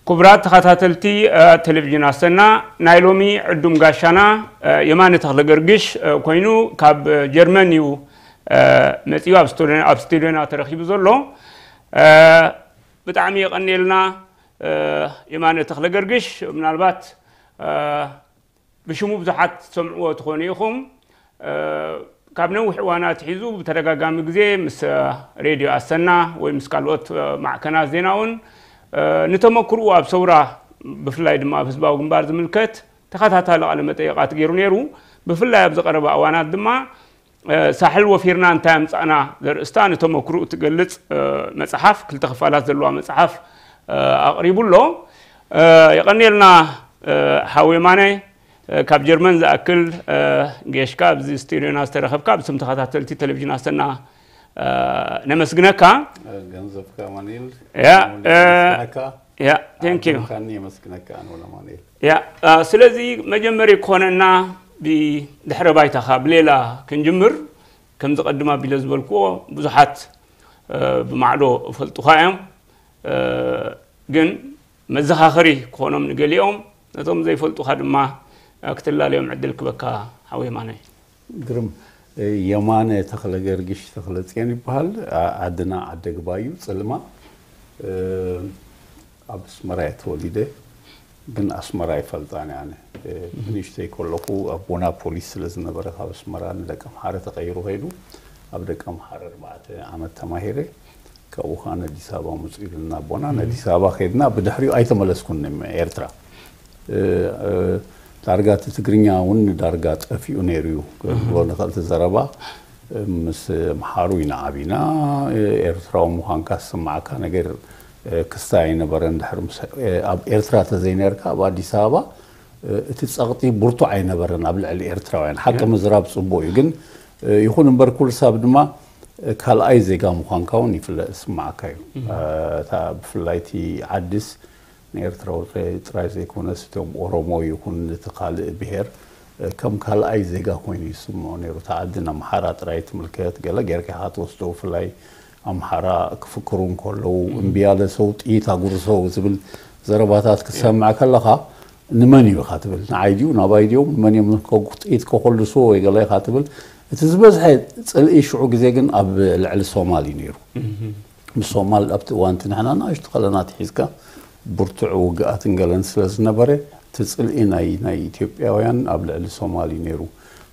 ክቡራት ተኸታተልቲ ቴሌቪዥን ኣሰና፣ ናይ ሎሚ ዕዱም ጋሻና የማነ ተኽለ ገርግሽ ኮይኑ ካብ ጀርመን እዩ መፂኡ። ኣብ ስቱዲዮና ተረኺቡ ዘሎ። ብጣዕሚ የቐንየልና። የማነ ተኽለ ገርግሽ ምናልባት ብሽሙ ብዙሓት ትሰምዕዎ ትኾኑ ኢኹም። ካብ ነዊሕ እዋናት ሒዙ ብተደጋጋሚ ግዜ ምስ ሬድዮ ኣሰና ወይ ምስ ካልኦት ማዕከናት ዜና እውን ንተመክርኡ ኣብ ሰውራ ብፍላይ ድማ ኣብ ህዝባዊ ግንባር ዝምልከት ተኸታታሊ ቃለ መጠይቓት ገይሩ ነይሩ። ብፍላይ ኣብ ዝቐረበ እዋናት ድማ ሳሕል ወፊርና እንታይ ኣምጻእና ዘርእስታ ንተመክርኡ ትገልጽ መጽሓፍ፣ ክልተ ክፋላት ዘለዋ መጽሓፍ ኣቕሪቡ ኣሎ። የቐንየልና ሓው የማነ። ካብ ጀርመን ዝኣክል ጌሽካ ኣብዚ ስቱዲዮና ዝተረኸብካ ብስም ተኸታተልቲ ቴሌቪዥን ኣሰና ነመስግነካ። ገንዘብካ ማኒል ያ ነመስግነካ። ያ thank you። ካኒ የመስግነካ ኣነ ወላ ማኒል ያ ስለዚ መጀመሪ ክኾነና ብድሕረ ባይታኻ ብሌላ ክንጅምር። ከምዚ ቀድም ኣቢለ ዝበልክዎ ብዙሓት ብማዕዶ እፈልጡኻ እዮም። ግን መዘኻኸሪ ክኾኖም ንገሊኦም፣ ነቶም ዘይፈልጡኻ ድማ ክትላለዮም ዕድል ክበካ ሓው የማነ። ግርም። የማነ ተኽለ ገርግሽ ተኽለ ጽዮን ይበሃል። ዓድና ዓደ ግባዩ ጽልማ። ኣብ ኣስመራ እየ ተወሊደ፣ ግን ኣስመራ ኣይፈልጣን እየ ኣነ። ብንእሽተይ ከለኹ ኣቦና ፖሊስ ስለ ዝነበረ ካብ ኣስመራ ንደቀምሓረ ተቐይሩ ከይዱ። ኣብ ደቀምሓረ ኣርባዕተ ዓመት ተማሂረ። ካብኡ ከዓ ንኣዲስ ኣበባ ምፁ ኢሉና ኣቦና። ንኣዲስ ኣበባ ከይድና ብድሕሪኡ ኣይተመለስኩን ኤርትራ። ዳርጋ እቲ ትግርኛ እውን ዳርጋ ጠፊኡ ነይሩ እዩ። ብሎ ንኽእል እቲ ዘረባ ምስ ኣምሓሩ ኢና ዓቢና። ኤርትራዊ ምዃንካ ዝስምዓካ ነገር ክስታይ ኣይነበረን። ድሕሪ ምስ ኣብ ኤርትራ ተዘይነርካ ኣብ ኣዲስ ኣበባ እቲ ጸቕጢ ብርቱዕ ኣይነበረን ኣብ ልዕሊ ኤርትራውያን። ሓቂ ምዝራብ ጽቡቕ እዩ፣ ግን ይኹን እምበር ኩሉ ሰብ ድማ ካልኣይ ዜጋ ምዃንካ እውን ይፍለ ዝስምዓካ እዩ። እታ ብፍላይ እቲ ዓድስ ንኤርትራዊ ጥራይ ዘይኮነስ እቶም ኦሮሞ ይኹን እቲ ካልእ ብሄር ከም ካልኣይ ዜጋ ኮይኑ ይስምዖ ነይሩ። እታ ዓዲ ንኣምሓራ ጥራይ ትምልከት፣ ገለ ጌርካ ኢኻ ትወስዶ። ብፍላይ ኣምሓራ ክፍክሩ እንከለዉ እምቢ ያለ ሰው ጥይት ኣጉርሰው ዝብል ዘረባታት ክትሰምዕ ከለኻ ንመን እዩ ኢኻ ትብል? ንዓይ ድዩ ናባይ ድዮም ንመን እዮም ጥይት ከኮልስዎ ወይ ገለ ኢኻ ትብል። እቲ ዝበዝሐ ጽልኢ ሽዑ ግዜ ግን ኣብ ልዕሊ ሶማል እዩ ነይሩ። ምስ ሶማል ኣብቲ እዋንቲ ንሕና ንኣሽቱ ከለና ትሒዝካ ብርቱዕ ውግኣትን ገለን ስለ ዝነበረ እቲ ጽልኢ ናይ ናይ ኢትዮጵያውያን ኣብ ልዕሊ ሶማል እዩ ነይሩ።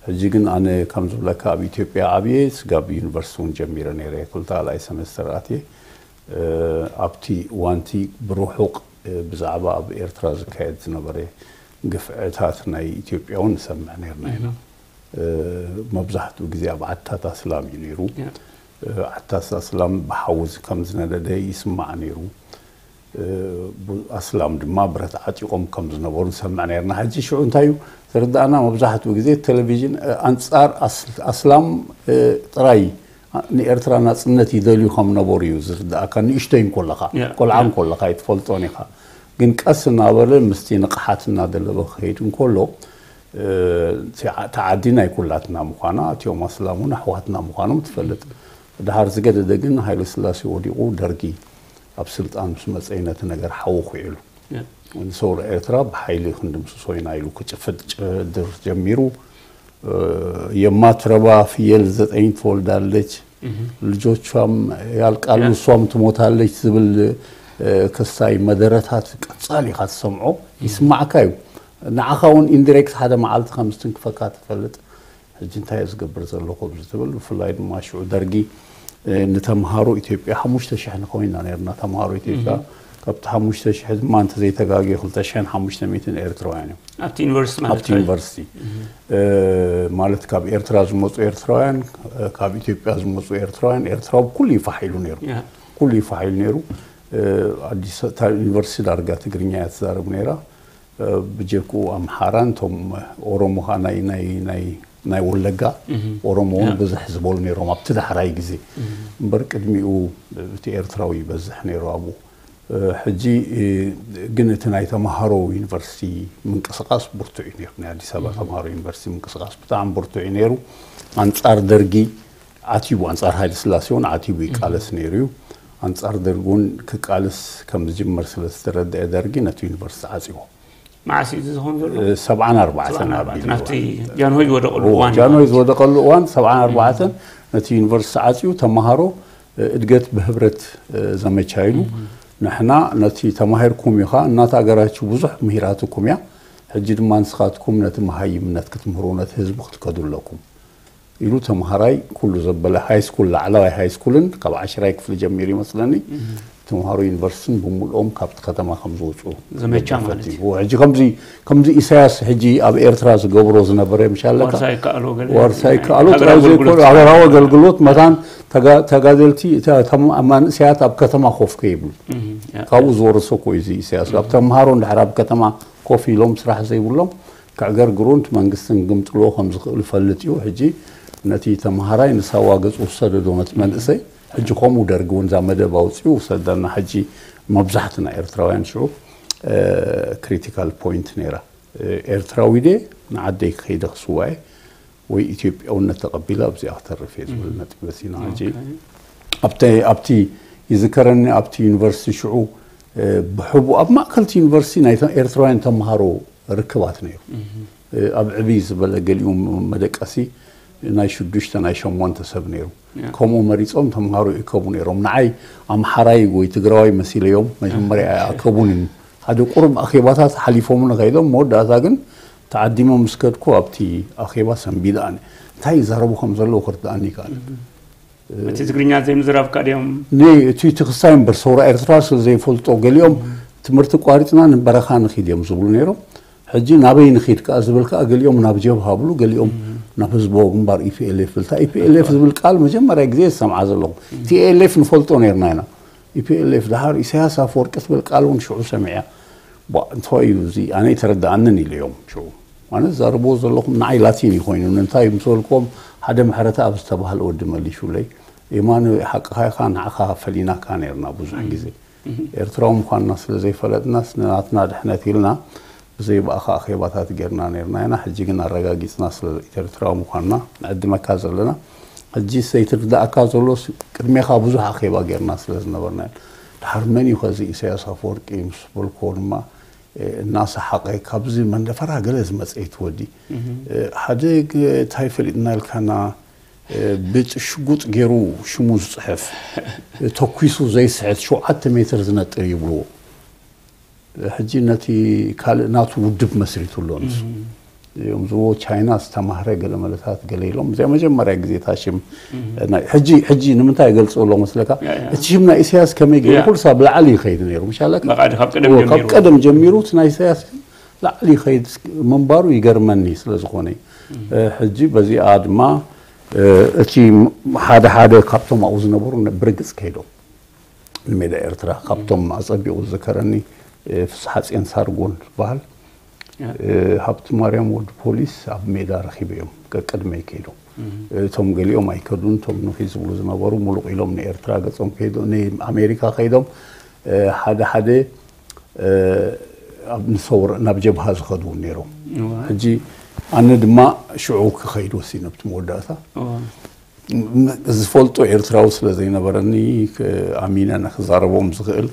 ሕጂ ግን ኣነ ከም ዝብለካ ኣብ ኢትዮጵያ ዓብየ ስጋብ ዩኒቨርሲቲ እውን ጀሚረ ነይረ ክልተ ካልኣይ ሰሜስተር ኣትየ ኣብቲ እዋንቲ ብርሑቕ ብዛዕባ ኣብ ኤርትራ ዝካየድ ዝነበረ ግፍዕታት ናይ ኢትዮጵያ እውን ንሰምዕ ነርና ኢና። መብዛሕትኡ ግዜ ኣብ ዓድታት ኣስላም እዩ ነይሩ። ዓድታት ኣስላም ብሓዊ ከም ዝነደደ ይስማዕ ነይሩ። ኣስላም ድማ ብረት ዓጢቖም ከም ዝነበሩ ንሰምዕ ነርና። ሕጂ ሽዑ እንታይ እዩ ዝርዳእና? መብዛሕትኡ ግዜ ቴሌቪዥን ኣንጻር ኣስላም ጥራይ ንኤርትራ ናጽነት ይደልዩ ከም ነበሩ እዩ ዝርዳእካ። ንእሽቶይ እንኮለኻ ቆልዓ እንኮለኻ ኣይትፈልጦን ኢኻ። ግን ቀስ እናበለ ምስቲ ንቕሓት እናደለበ ክኸይድ እንከሎ እታ ዓዲ ናይ ኩላትና ምዃና እቲኦም ኣስላም እውን ኣሕዋትና ምዃኖም ትፈልጥ። ድሓር ዝገደደ ግን ሃይለ ስላሴ ወዲቑ ደርጊ ኣብ ስልጣን ምስ መጸ ነቲ ነገር ሓዊ ኩዒሉ ንሰውራ ኤርትራ ብሓይሊ ክንድምስሶ ኢና ኢሉ ክጭፍጭድር ጀሚሩ። የማትረባ ፍየል ዘጠኝ ትወልዳለች፣ ልጆቿም ያልቃሉ እሷም ትሞታለች ዝብል ክስታይ መደረታት ቀጻሊ ኢኻ ትሰምዖ ይስማዕካ እዩ። ንዓኻ እውን ኢንዲሬክት ሓደ መዓልቲ ከም ዝትንክፈካ ትፈልጥ። ሕጂ እንታይ እየ ዝገብር ዘለኹ ኣብዚ ትብል። ብፍላይ ድማ ሽዑ ደርጊ ንተምሃሮ ኢትዮጵያ ሓሙሽተ ሽሕ ንኸውን ኢና ነርና ተምሃሮ ኢትዮጵያ። ካብቲ ሓሙሽተ ሽሕ ድማ እንተዘይተጋግየ ክልተ ሽሕን ሓሙሽተ ሚእትን ኤርትራውያን እዮም ኣብቲ ዩኒቨርሲቲ ማለት ኣብቲ ዩኒቨርሲቲ ማለት ካብ ኤርትራ ዝመፁ ኤርትራውያን፣ ካብ ኢትዮጵያ ዝመፁ ኤርትራውያን። ኤርትራዊ ኩሉ ይፋሕ ኢሉ ነይሩ። ኩሉ ይፋሕ ኢሉ ነይሩ። ኣዲስ ዩኒቨርሲቲ ዳርጋ ትግርኛ እያ ትዛረብ ነይራ። ብጀክኡ ኣምሓራን እቶም ኦሮሞ ከዓ ናይ ናይ ናይ ናይ ወለጋ ኦሮሞ እውን ብዙሕ ዝበሉ ነይሮም ኣብቲ ዳሕራይ ግዜ። እምበር ቅድሚኡ እቲ ኤርትራዊ ይበዝሕ ነይሩ ኣብኡ። ሕጂ ግን እቲ ናይ ተምሃሮ ዩኒቨርሲቲ ምንቅስቃስ ብርቱዕ እዩ ነይሩ። ናይ ኣዲስ ኣበባ ተምሃሮ ዩኒቨርሲቲ ምንቅስቃስ ብጣዕሚ ብርቱዕ እዩ ነይሩ። ኣንጻር ደርጊ ዓቲቡ፣ ኣንጻር ሃይለ ስላሴ እውን ዓቲቡ ይቃለስ ነይሩ እዩ። ኣንጻር ደርጊ እውን ክቃልስ ከም ዝጅመር ስለ ዝተረድአ ደርጊ ነቲ ዩኒቨርሲቲ ዓጽዎ። መዓስ እዩ እዚ ዝኸውን ዘሎ? ሰብዓን ኣርባዕተን ኣቢሉ ናብቲ ጃንሆይ ዝወደቐሉ እዋን ጃንሆይ ዝወደቐሉ እዋን ሰብዓን ኣርባዕተን ነቲ ዩኒቨርሲቲ ዓጽዩ ተመሃሮ እድገት ብህብረት ዘመቻ ኢሉ ንሕና ነቲ ተማሂርኩም ኢኻ እናተኣገራችሁ ብዙሕ ምሂራትኩም እያ ሕጂ ድማ ንስኻትኩም ነቲ መሃይምነት ክትምህሩ ነቲ ህዝቢ ክትከዱ ኣለኩም ኢሉ ተምሃራይ ኩሉ ዘበለ ሃይስኩል ላዕለዋይ ሃይስኩልን ካብ ዓሽራይ ክፍሊ ጀሚሩ ይመስለኒ ተምሃሮ ዩኒቨርሲቲን ብምልኦም ካብቲ ከተማ ከም ዝወፁ ዘመቻ ማለት እዩ። ሕጂ ከምዚ ከምዚ ኢሳያስ ሕጂ ኣብ ኤርትራ ዝገብሮ ዝነበረ ምሻለካ ዋርሳይ ከኣሎ ገለ ዋርሳይ ከኣሎ ጥራይ ዘይኮነ ሃገራዊ ኣገልግሎት መታን ተጋደልቲ መንእሰያት ኣብ ከተማ ኮፍ ከይብሉ ካብኡ ዝወረሰ እኮ እዩ ኢሳያስ ኣብ ተምሃሮ እንድሕር ኣብ ከተማ ኮፍ ኢሎም ስራሕ ዘይብሎም ክዕገርግሩን እቲ መንግስትን ግምጥልዎ ከም ዝኽእል ይፈልጥ እዩ። ሕጂ ነቲ ተምሃራይ ንሳዋ ገጹ ዝሰደዶ ነቲ መንእሰይ ሕጂ ከምኡ ደርጊ እውን እዛ መደብ ኣውፅኡ ውሰደና። ሕጂ መብዛሕትና ኤርትራውያን ሽዑ ክሪቲካል ፖይንት ነይራ። ኤርትራዊ ድየ ንዓደይ ክኸይደ ክስዋኤ ወይ ኢትዮጵያውነት ተቐቢለ ኣብዚኣ ክተርፍ እየ ዝብል ነጥቢ መሲና ሕጂ ኣብቲ ይዝከረኒ ኣብቲ ዩኒቨርሲቲ ሽዑ ብሕቡ ኣብ ማእከልቲ ዩኒቨርሲቲ ናይ ኤርትራውያን ተምሃሮ ርክባት ነይሩ ኣብ ዕብይ ዝበለ ገሊኡ መደቀሲ ናይ ሽዱሽተ ናይ ሸሞንተ ሰብ ነይሩ ከምኡ መሪፆም ተምሃሮ ይእከቡ ነይሮም ንዓይ ኣምሓራይ ወይ ትግራዋይ መሲለዮም መጀመርያ ኣይኣከቡንን ሓደ ቁሩብ ኣኼባታት ሓሊፎምኒ ከይዶም መወዳእታ ግን ተዓዲሞም ምስ ከድኩ ኣብቲ ኣኼባ ሰንቢደ ኣነ እንታይ ይዛረቡ ከም ዘለዉ ክርድኣኒ ይከኣል እቲ ትግርኛ ዘይምዝራብካ ድዮም ን እቲ እቲ ክሳይ እምበር ሰውራ ኤርትራ ስለ ዘይፈልጦ ገሊኦም ትምህርቲ ቋሪፅና ንበረኻ ንኺድ እዮም ዝብሉ ነይሮም ሕጂ ናበይ ንኺድ ከዓ ዝብል ከዓ ገሊኦም ናብ ጀብሃ ብሉ ገሊኦም ናብ ህዝባዊ ግንባር ኢፒኤልኤፍ ብልታ ኢፒኤልኤፍ ዝብል ቃል መጀመርያ ግዜ ዝሰምዓ ዘለኹ ቲኤልኤፍ ንፈልጦ ነርና ኢና ኢፒኤልኤፍ ድሓር ኢሳያስ ኣፈወርቂ ትብል ቃል እውን ሽዑ ሰሚዐ ቧእ እንታይ እዩ እዚ ኣነ ኣይተረድኣንን ኢለዮም ሽዑ ኣነ ዝዛረብዎ ዘለኹም ንዓይ ላቲን እዩ ኮይኑ ንምንታይ ምስ በልክዎም ሓደ ምሕረተኣብ ዝተባህለ ወዲ መሊሹለይ የማነ ሓቅኻ ኢኻ ንዓኻ ፈሊናካ ነርና ብዙሕ ግዜ ኤርትራዊ ምዃንና ስለ ዘይፈለጥናስ ንናትና ድሕነት ኢልና ብዘይ ብኣኻ ኣኼባታት ጌርና ነርና ኢና ሕጂ ግን ኣረጋጊጽና ስለ ኤርትራዊ ምዃንና ንዕድመካ ዘለና ሕጂ ዘይትርዳእካ ዘሎስ ቅድሜኻ ብዙሕ ኣኼባ ጌርና ስለ ዝነበርና ኢና ድሓር መን እዩ ከዚ ኢሳያስ ኣፈወርቂ ምስ በልክዎ ድማ እናሰሓቐ ካብዚ መንደፈራ ገለ ዝመፀ እዩ ትወዲ ሓደ እንታይ ፈሊጥና ኢልካና ብሽጉጥ ገይሩ ሽሙ ዝፅሕፍ ተኩሱ ዘይስሕት ሸውዓተ ሜትር ዝነጥር ይብልዎ ሕጂ ነቲ ካልእ ናቱ ውድብ መስሪቱ ኣሎ ንሱ እዮም ዝብዎ ቻይና ዝተማህረ ገለ መለታት ገለ ኢሎም እዚኣ መጀመርያ ግዜ እታ ሽም ሕጂ ሕጂ ንምንታይ ይገልፅዎ ኣለዎ መስለካ እቲ ሽም ናይ ኢሳያስ ከመይ ገይሩ ኩሉ ሳብ ላዕሊ ይኸይድ ነይሩ ምሻለካ ካብ ቀደም ጀሚሩ እቲ ናይ ኢሳያስ ላዕሊ ይኸይድ ምንባሩ ይገርመኒ ስለ ዝኾነ ሕጂ በዚኣ ድማ እቲ ሓደ ሓደ ካብቶም ኣብኡ ዝነበሩ ብርግፅ ከይዶም ንሜዳ ኤርትራ ካብቶም ኣፀቢቑ ዝዝከረኒ ፍስሓፅዮን ሳርጎን ዝበሃል ሃብቲ ማርያም ወዲ ፖሊስ ኣብ ሜዳ ረኺበ እዮም ቀቅድመይ ከይዶም እቶም ገሊኦም ኣይከዱን እቶም ንኺ ዝብሉ ዝነበሩ ሙሉቕ ኢሎም ንኤርትራ ገጾም ከይዶ ንኣሜሪካ ከይዶም ሓደ ሓደ ኣብ ንሰውር ናብ ጀብሃ ዝኸዱ እውን ነይሮም ሕጂ ኣነ ድማ ሽዑ ክኸይድ ወሲነ ኣብቲ መወዳእታ ዝፈልጦ ኤርትራዊ ስለ ዘይነበረኒ ኣሚነ ንክዛረቦም ዝኽእል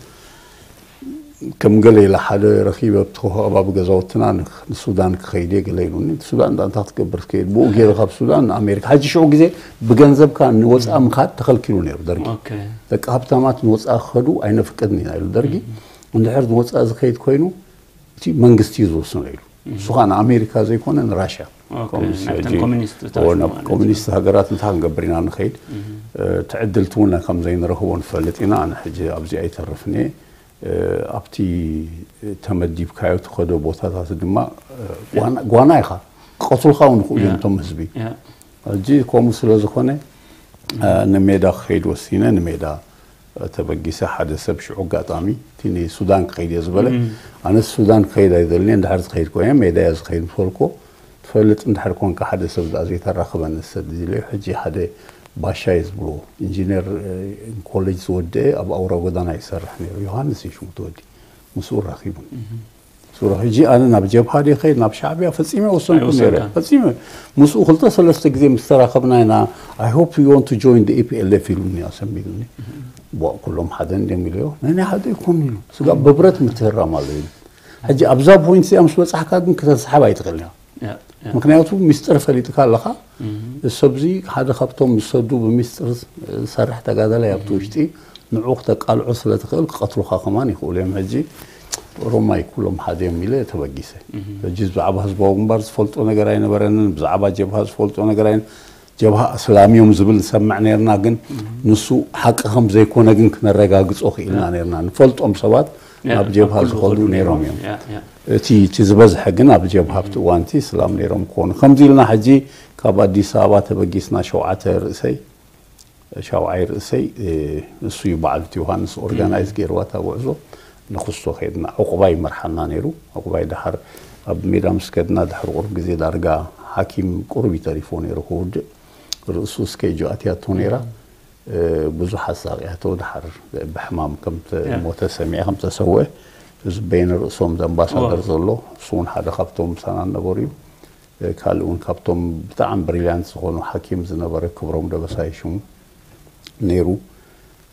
ከም ገለ ኢለ ሓደ ረኺበ ኣብቲ ከባቢ ገዛውትና ንሱዳን ክኸይድ እየ ገለ ኢሉኒ ሱዳን ዳ እንታይ ክትገብር ትከይድ ብኡ ገይረ ካብ ሱዳን ንኣሜሪካ ሕጂ ሽዑ ግዜ ብገንዘብካ ንወፃኢ ምኻድ ተኸልኪሉ ነይሩ ደርጊ ደቂ ሃብታማት ንወፃኢ ክኸዱ ኣይነፍቅድን ኢና ኢሉ ደርጊ እንድሕር ንወፃኢ ዝኸይድ ኮይኑ እቲ መንግስቲ እዩ ዝወስኖ ኢሉ ንሱ ከዓ ንኣሜሪካ ዘይኮነ ንራሽያ ኮሚኒስት ሃገራት እንታይ ክንገብር ኢና ንኸይድ ትዕድልቲ እውን ከም ዘይንረኽቦ ንፈልጥ ኢና ኣነ ሕጂ ኣብዚ ኣይተርፍን እየ ኣብቲ ተመዲብካዮ ትኸዶ ቦታታት ድማ ጓና ኢኻ ቀትልካ እውን ይኽእሉ እዮም እቶም ህዝቢ ሕጂ ከምኡ ስለ ዝኾነ ንሜዳ ክኸይድ ወሲነ ንሜዳ ተበጊሰ ሓደ ሰብ ሽዑ ኣጋጣሚ እቲ ንሱዳን ክኸይድ እየ ዝበለ ኣነስ ሱዳን ክኸይድ ኣይደልን እየ እንድሕር ዝኸይድ ኮይነ ሜዳ እየ ዝኸይድ ምስ በልክዎ ትፈልጥ እንድሕር ኮንካ ሓደ ሰብ ደኣ ዘይተራኽበኒ ሰድ ኢለዮ ሕጂ ሓደ ባሻ እየ ዝብልዎ ኢንጂነር ኮሌጅ ዝወደአ ኣብ ኣውራ ጎዳና ይሰርሕ ነይሩ ዮሃንስ እዩ ሽሙ እቲ ወዲ ምስኡ ራኺቡኒ ሱሩ ሕጂ ኣነ ናብ ጀብሃ ድየ ከይድ ናብ ሻዕብያ ፈጺመ ወሰንኩ ነይረ። ኣይወሰንካን። ፈጺመ ምስኡ ክልተ ሰለስተ ግዜ ምስ ተራኸብና ኢና፣ I hope you want to join the E P L F ኢሉኒ፣ ኣሰሚሉኒ። ቧእ፣ ኩሎም ሓደ እንድዮም ኢለዮ። ናይ ናይ ሓደ ይኮኑ ኢሉ። ስጋብ ብብረት ምትህራም ኣሎ ኢሉ። ሕጂ ኣብዛ ፖይንት እዚኣ ምስ በጻሕካ ግን ክተንስሓብ ኣይትኽእልን ኢኻ። ያ፣ ያ። ምክንያቱ ሚስጥር ፈሊጥካ ኣለኻ። ሰብዚ ሓደ ካብቶም ዝሰዱ ብሚስጥር ዝሰርሕ ተጋዳላይ ኣብቲ ውሽጢ ንዑ ክተቃልዖ ስለ ትኽእል ክቐትሉኻ ከማን ይኽእሉ እዮም። ሕጂ ኦሮማይ ኩሎም ሓደ እዮም ኢለ ተበጊሰ። ሕጂ ብዛዕባ ህዝባዊ ግንባር ዝፈልጦ ነገር ኣይነበረንን፣ ብዛዕባ ጀብሃ ዝፈልጦ ነገር ኣይነ ጀብሃ ኣስላም እዮም ዝብል ንሰምዕ ነርና፣ ግን ንሱ ሓቂ ከም ዘይኮነ ግን ክነረጋግጾ ክኢልና ነርና። ንፈልጦም ሰባት ያ፣ ናብ ጀብሃ ኣብ ኩሉ ዝኸዱ ዝኸዱ ነይሮም እዮም። ያ፣ ያ። እቲ እቲ ዝበዝሐ ግን ኣብ ጀብሃ ኣብቲ እዋንቲ እስላም ነይሮም ክኾኑ። ከምዚ ኢልና ሕጂ ካብ ኣዲስ ኣበባ ተበጊስና ሸውዓተ ርእሰይ ሻውዓይ ርእሰይ፣ እ፣ እሱ እዩ በዓል እቲ ዮሃንስ ኦርጋናይዝ ገይርዋ እታ ጉዕዞ። ንክስቶ ከይድና ዕቑባይ ይመርሓና ነይሩ። ዕቑባይ ድሓር ኣብ ሜዳ ምስ ከድና ድሕሪ ቁሩብ ግዜ ዳርጋ ሓኪም ቁሩብ እዩ ተሪፎ ነይሩ ክውድእ። ርእሱ ስኬጁ ኣትያቶ ነይራ። እ፣ ብዙሕ ኣሳቂያቶ ድሓር ብሕማም ከም ያ። ተሞተ ሰሚዐ፣ ከም ተሰውአ። እዚ በይነ ርእሶም ዘምባሳደር ዋ። ዘሎ እሱ እውን ሓደ ካብቶም ምሳና ነበሩ እዩ። እ፣ ካልእ እውን ካብቶም ብጣዕሚ ብሪልያንት ዝኾኑ ሓኪም ዝነበረ ክብሮም ደበሳይ ሽሙ ነይሩ።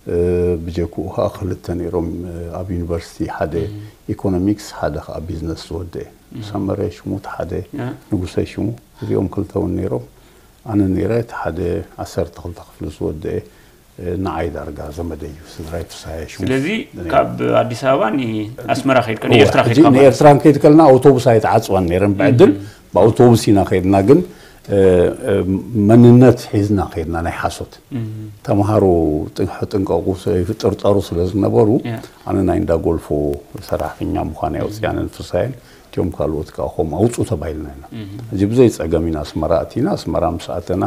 እ፣ ብጀክኡ ከዓ ክልተ ነይሮም፣ እ፣ ኣብ ዩኒቨርሲቲ፣ ሓደ ኢኮኖሚክስ፣ ሓደ ከዓ ቢዝነስ ዝወደአ። ሰመረ ሽሙ እቲ ሓደ፣ ያ። ንጉሰ ሽሙ፣ እዚኦም ክልተ እውን ነይሮም። ኣነ ነይረ እቲ ሓደ ዓሰርተ ክልተ ክፍሊ ዝወደአ፣ እ፣ ንዓይ ዳርጋ ዘመደይ እዩ፣ ስድራይ ፍስሃየ ሽሙ። ስለዚ ካብ ኣዲስ ኣበባ ንኣስመራ ከይድካ እወ፣ ንኤርትራ ሕጂ ከይድካ ማለት ንኤርትራ ክንከይድ ከለና ኣውቶቡስ ኣይተዓፅዋን ነይረን። ብዕድል ብኣውቶቡስ ኢና ከይድና፣ ግን እ፣ እ፣ መንነት ሒዝና ከይድና ናይ ሓሶት። ተምሃሮ ጥንቀቁ ጥርጠሩ ስለ ዝነበሩ፣ ያ። ኣነ ናይ እንዳ ጎልፎ ሰራሕተኛ ምዃን ኣውፅኣንን ፍሳየን፣ እቲኦም ካልኦት ከዓ ከምኡ ኣውፁ ተባሂልና ኢና። ሕጂ ብዘይ ፀገም ኢና ኣስመራ ኣቲና። ኣስመራ ምስ ኣተና፣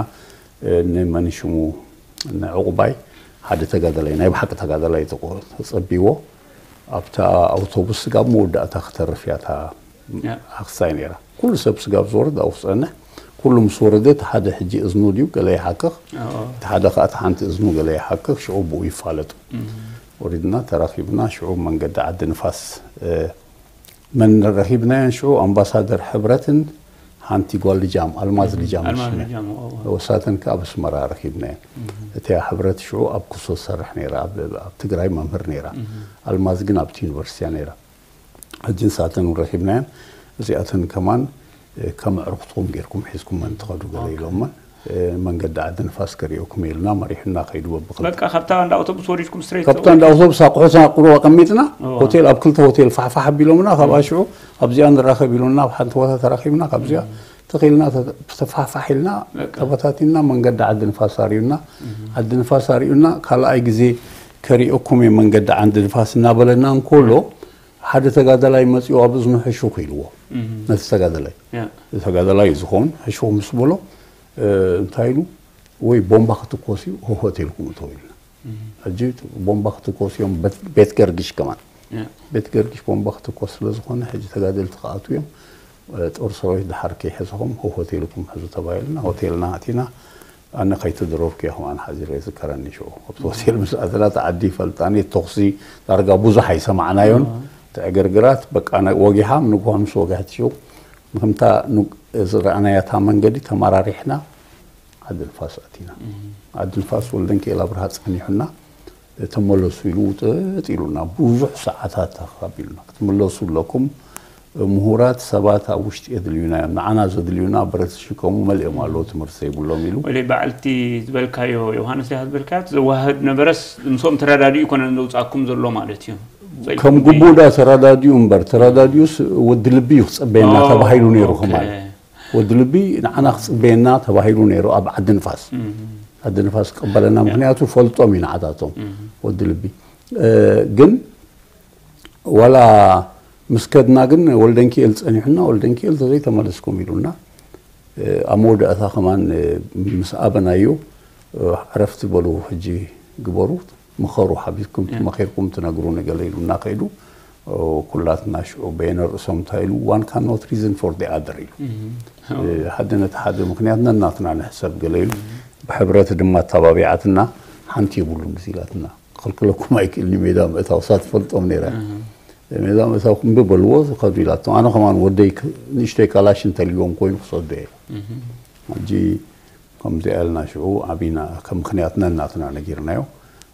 እ፣ ንመን ሽሙ ንዕቑባይ ሓደ ተጋዳላይ፣ ናይ ብሓቂ ተጋዳላይ ተቆ-፣ ተጸቢዎ። ኣብታ ኣውቶቡስ ስጋብ መወዳእታ ክተርፍ እያ እታ ያ። ኣኽሳይ ነይራ። ኩሉ ሰብ ስጋብ ዝወርድ ኣብኡ ክጸንሕ። ኩሉ ምስ ወረደ፣ እቲ ሓደ ሕጂ እዝኑ ድዩ ገለ ይሓክኽ፣ ኣዎ። እቲ ሓደ ከኣ እቲ ሓንቲ እዝኑ ገለ ይሓክኽ፣ ሽዑ ብኡ ይፋለጡ። ወሪድና ተራኺብና፣ ሽዑ መንገዲ ዓዲ ንፋስ፣ እ፣ መን ረኺብናየን ሽዑ? ኣምባሳደር ሕብረትን ሓንቲ ጓል ልጃም፣ ኣልማዝ ልጃም ኣልማዝ ሽመ። ልጃም፣ ኣዎ። ወሳተን ከኣ ኣብ ኣስመራ ረኺብናየን። እቲኣ ሕብረት ሽዑ ኣብ ኩሶ ትሰርሕ ነይራ፣ ኣብ፣ ኣብ ትግራይ መምህር ነይራ። ኣልማዝ ግን ኣብቲ ዩኒቨርሲቲ እያ ነይራ። ሕጂ ንሳተን እውን ረኺብናየን። እዚኣተን ከማን፣ እ፣ ከም ኣዕሩኽትኩም ጌርኩም ሒዝኩመን ትኸዱ ገለ ኢሎመን። እ፣ መንገዲ ዓዲ ንፋስ ከሪኦኩም ኢልና መሪሑና ከይዱ በብኽልተ። በቃ ካብታ እንዳ ኣውቶቡስ ወሪድኩም ስትሬት ካብታ እንዳ ኣውቶቡስ ኣቑሑትና ቁሩብ ኣቐሚጥና፣ እዋ። ሆቴል ኣብ ክልተ ሆቴል ፋሕፋሕ ኣቢሎምና፣ ካብኣ ሽዑ ኣብዚኣ ንራኸብ ኢሉና፣ ኣብ ሓንቲ ቦታ ተራኺብና፣ ካብዚኣ ተኺልና ተ-፣ ተፋሕፋሕ ኢልና፣ በቃ። ተበታቲንና፣ መንገዲ ዓዲ ንፋስ ኣሪዩና። ዓዲ ንፋስ ኣሪዩና፣ ካልኣይ ግዜ ከሪኦኩም እየ መንገዲ ዓዲ ንፋስ እናበለና እንከሎ፣ ሓደ ተጋዳላይ መጺኡ ኣብ እዝኑ ሕሹኽ ኢልዎ። ነቲ ተጋዳላይ። ያ። ተጋዳላይ እዩ ዝኸውን፣ ሕሹኽ ምስ በሎ፣ እ፣ እንታይ ኢሉ? ወይ ቦምባ ክትኮስ እዩ፣ ሆሆት ኢልኩም እተው ኢልና። ሕጂ ቦምባ ክትኮስ እዮም፣ በት-፣ ቤት ገርግሽ ከማን። ያ። ቤት ገርግሽ ቦምባ ክትኮስ ስለ ዝኾነ፣ ሕጂ ተጋደልቲ ክኣትዉ እዮም። እ፣ ጦር ሰራዊት ድሓር ከይሕዝኹም፣ ሆሆት ኢልኩም ሕዙ ተባሂልና፣ ሆቴልና ኣቲና። ኣነ ከይተደረብኩ እየ ከማን ሓዚረ ዝከረኒ ሽዑ። ኣብቲ ሆቴል ምስ ኣተና፣ እቲ ዓዲ ይፈልጣኒ፣ ተኹሲ ዳርጋ ብዙሕ ኣይሰማዕናዮን። እቲ ዕግርግራት፣ በቃ፣ ናይ ወጊሓ፣ ንግሆ ምስ ወግሐት ሽዑ፣ ከምታ ኑ-፣ ዝረኣናያ እታ መንገዲ ተመራሪሕና፣ ዓዲ ንፋስ ኣቲና። ዓዲ ንፋስ ወልደንኪኤል ኣብርሃ ጸኒሑና፣ ተመለሱ ኢሉ ውጥጥ ኢሉና፣ ብዙሕ ሰዓታት ኣኻቢሉና። ክትምለሱ ኣለኩም፣ ምሁራት ሰባት ኣብ ውሽጢ የድልዩና እዮም፣ ንዓና ዘድልዩና ብረት ዝሽከሙ መሊኦም ኣለዉ፣ ትምህርቲ ዘይብሎም ኢሉ። ወይለይ በዓልቲ ዝበልካዮ፣ ዮሃንስ ዲኻ ዝበልካዮ፣ ዘዋህድ ነበረስ ምስኦም ተረዳዲኡ ይኮነን ዘውጻኩም ዘሎ ማለት እዩ። ከም ግቡእ ዳ ተረዳዲኡ እምበር፣ ተረዳዲኡስ ወዲ ልቢ እዩ ክጽበየና ተባሂሉ ነይሩ። ከማን ወዲ ልቢ ንዓና ክጽበየና ተባሂሉ ነይሩ ኣብ ዓዲ ንፋስ። ዓዲ ንፋስ ክቕበለና፣ ምኽንያቱ ፈልጦም እዩ ንዓታቶም። ወዲ ልቢ፣ እ፣ ግን ዋላ ምስ ከድና ግን ወልደንኪኤል ጸኒሑና፣ ወልደንኪኤል ተዘይተመለስኩም ኢሉና። እ፣ ኣብ መወዳእታ ከማን፣ እ፣ ምስ ኣበናዮ፣ እ፣ ዕረፍቲ በሉ፣ ሕጂ ግበሩ፣ ምኸሩ፣ ሓቢርኩም መኺርኩም ትነግሩኒ ገለ ኢሉና ከይዱ። ኦ፣ ኩላትና ሽዑ በየነ ርእሶም እንታይ ኢሉ? One cannot reason for the other ኢሉ። እ፣ ሓደ ነቲ ሓደ ምኽንያት ነናትና ንሕሰብ ገለ ኢሉ። ብሕብረት ድማ ኣተባቢዓትና፣ ሓንቲ የብሉን እዚ ኢላትና። ክኽልክለኩም ኣይክእልን እዩ፣ ሜዳ ምእታው እሳ ትፈልጦም ነይራ። ሜዳ መእታውኩም ብበልዎ ዝኸዱ ኢላቶም። ኣነ ከማን ወደይ ክ- ንእሽተይ ካላሽ እንተልዎም ኮይኑ ክሰዶ እየ። ሕጂ ከምዚኣ ኢልና ሽዑ ዓቢና ከም ምኽንያት ነናትና ነጊርናዮ።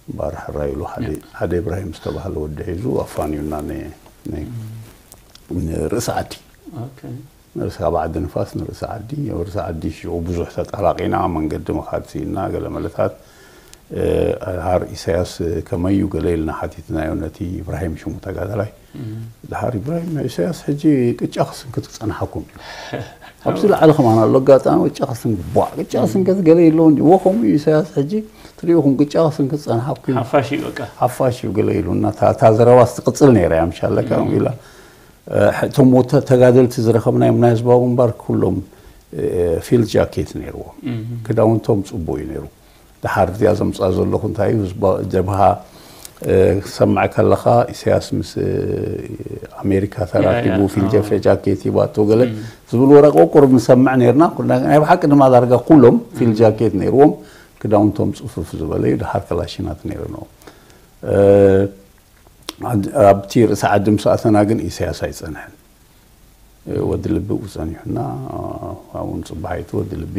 እምበኣር ሕራይ ኢሉ ሓደ ሓደ ኢብራሂም ዝተባህለ ወዲ ሒዙ ኣፋንዩና ን- ን- ንርእሲ ዓዲ። ንርእሲ ካብ ዓዲ ንፋስ ንርእሲ ዓዲ። ኣብ ርእሲ ዓዲ ሽዑ ብዙሕ ተጣላቒና መንገዲ ምኻድ ስኢንና ገለ መለታት። ሃር ኢሳያስ ከመዩ ገለ ኢልና ሓቲትናዮ ነቲ ኢብራሂም ሽሙ ተጋዳላይ። ድሓር ኢብራሂም ኢሳያስ ሕጂ ቅጫ ክስንክት ክጸንሓኩም እዩ። ኣብዚ ላዕሊ ከማን ኣሎ ኣጋጣሚ ቅጫ ክስንክት ቧዕ ቅጫ ክስንክት ገለ የለውን ድዩ? ወ ከምኡ እዩ ኢሳያስ ሕጂ ትሪኢኹም ቅጫ ክስንክት ጸንሓኩም እዩ። ሓፋሽ እዩ በቃ። ሓፋሽ እዩ ገለ ኢሉ እና እታ እታ ዘረባ ትቕጽል ነይራ እያ ምሻለካ ኢላ። እቶም ወተ ተጋደልቲ ዝረኸብናዮም ናይ ህዝባዊ ግንባር ኩሎም ፊልድ ጃኬት ነይርዎም። ክዳውንቶም ጽቡቕ እዩ ነይሩ። ድሓር እዚኣ ዘምፅኣ ዘለኹ እንታይ እዩ ህዝባ ጀብሃ ክሰምዕ ከለኻ ኢሳያስ ምስ ኣሜሪካ ተራኪቡ ፊልጀፈ ጃኬት ሂባቶ ገለ ዝብል ወረቀ ቁሩብ ንሰምዕ ነርና። ናይ ብሓቂ ድማ ዳርጋ ኩሎም ፊል ጃኬት ነይርዎም። ክዳውንቶም ፅፉፍ ዝበለ እዩ። ድሓር ከላሽናት ነይርንዎም። ኣብቲ ርእሲ ዓዲ ምስ ኣተና ግን ኢሳያስ ኣይጸንሐን። ወዲ ልቢ ብኡ ጸኒሑና። ኣብኡ ንጽባሒቱ ወዲ ልቢ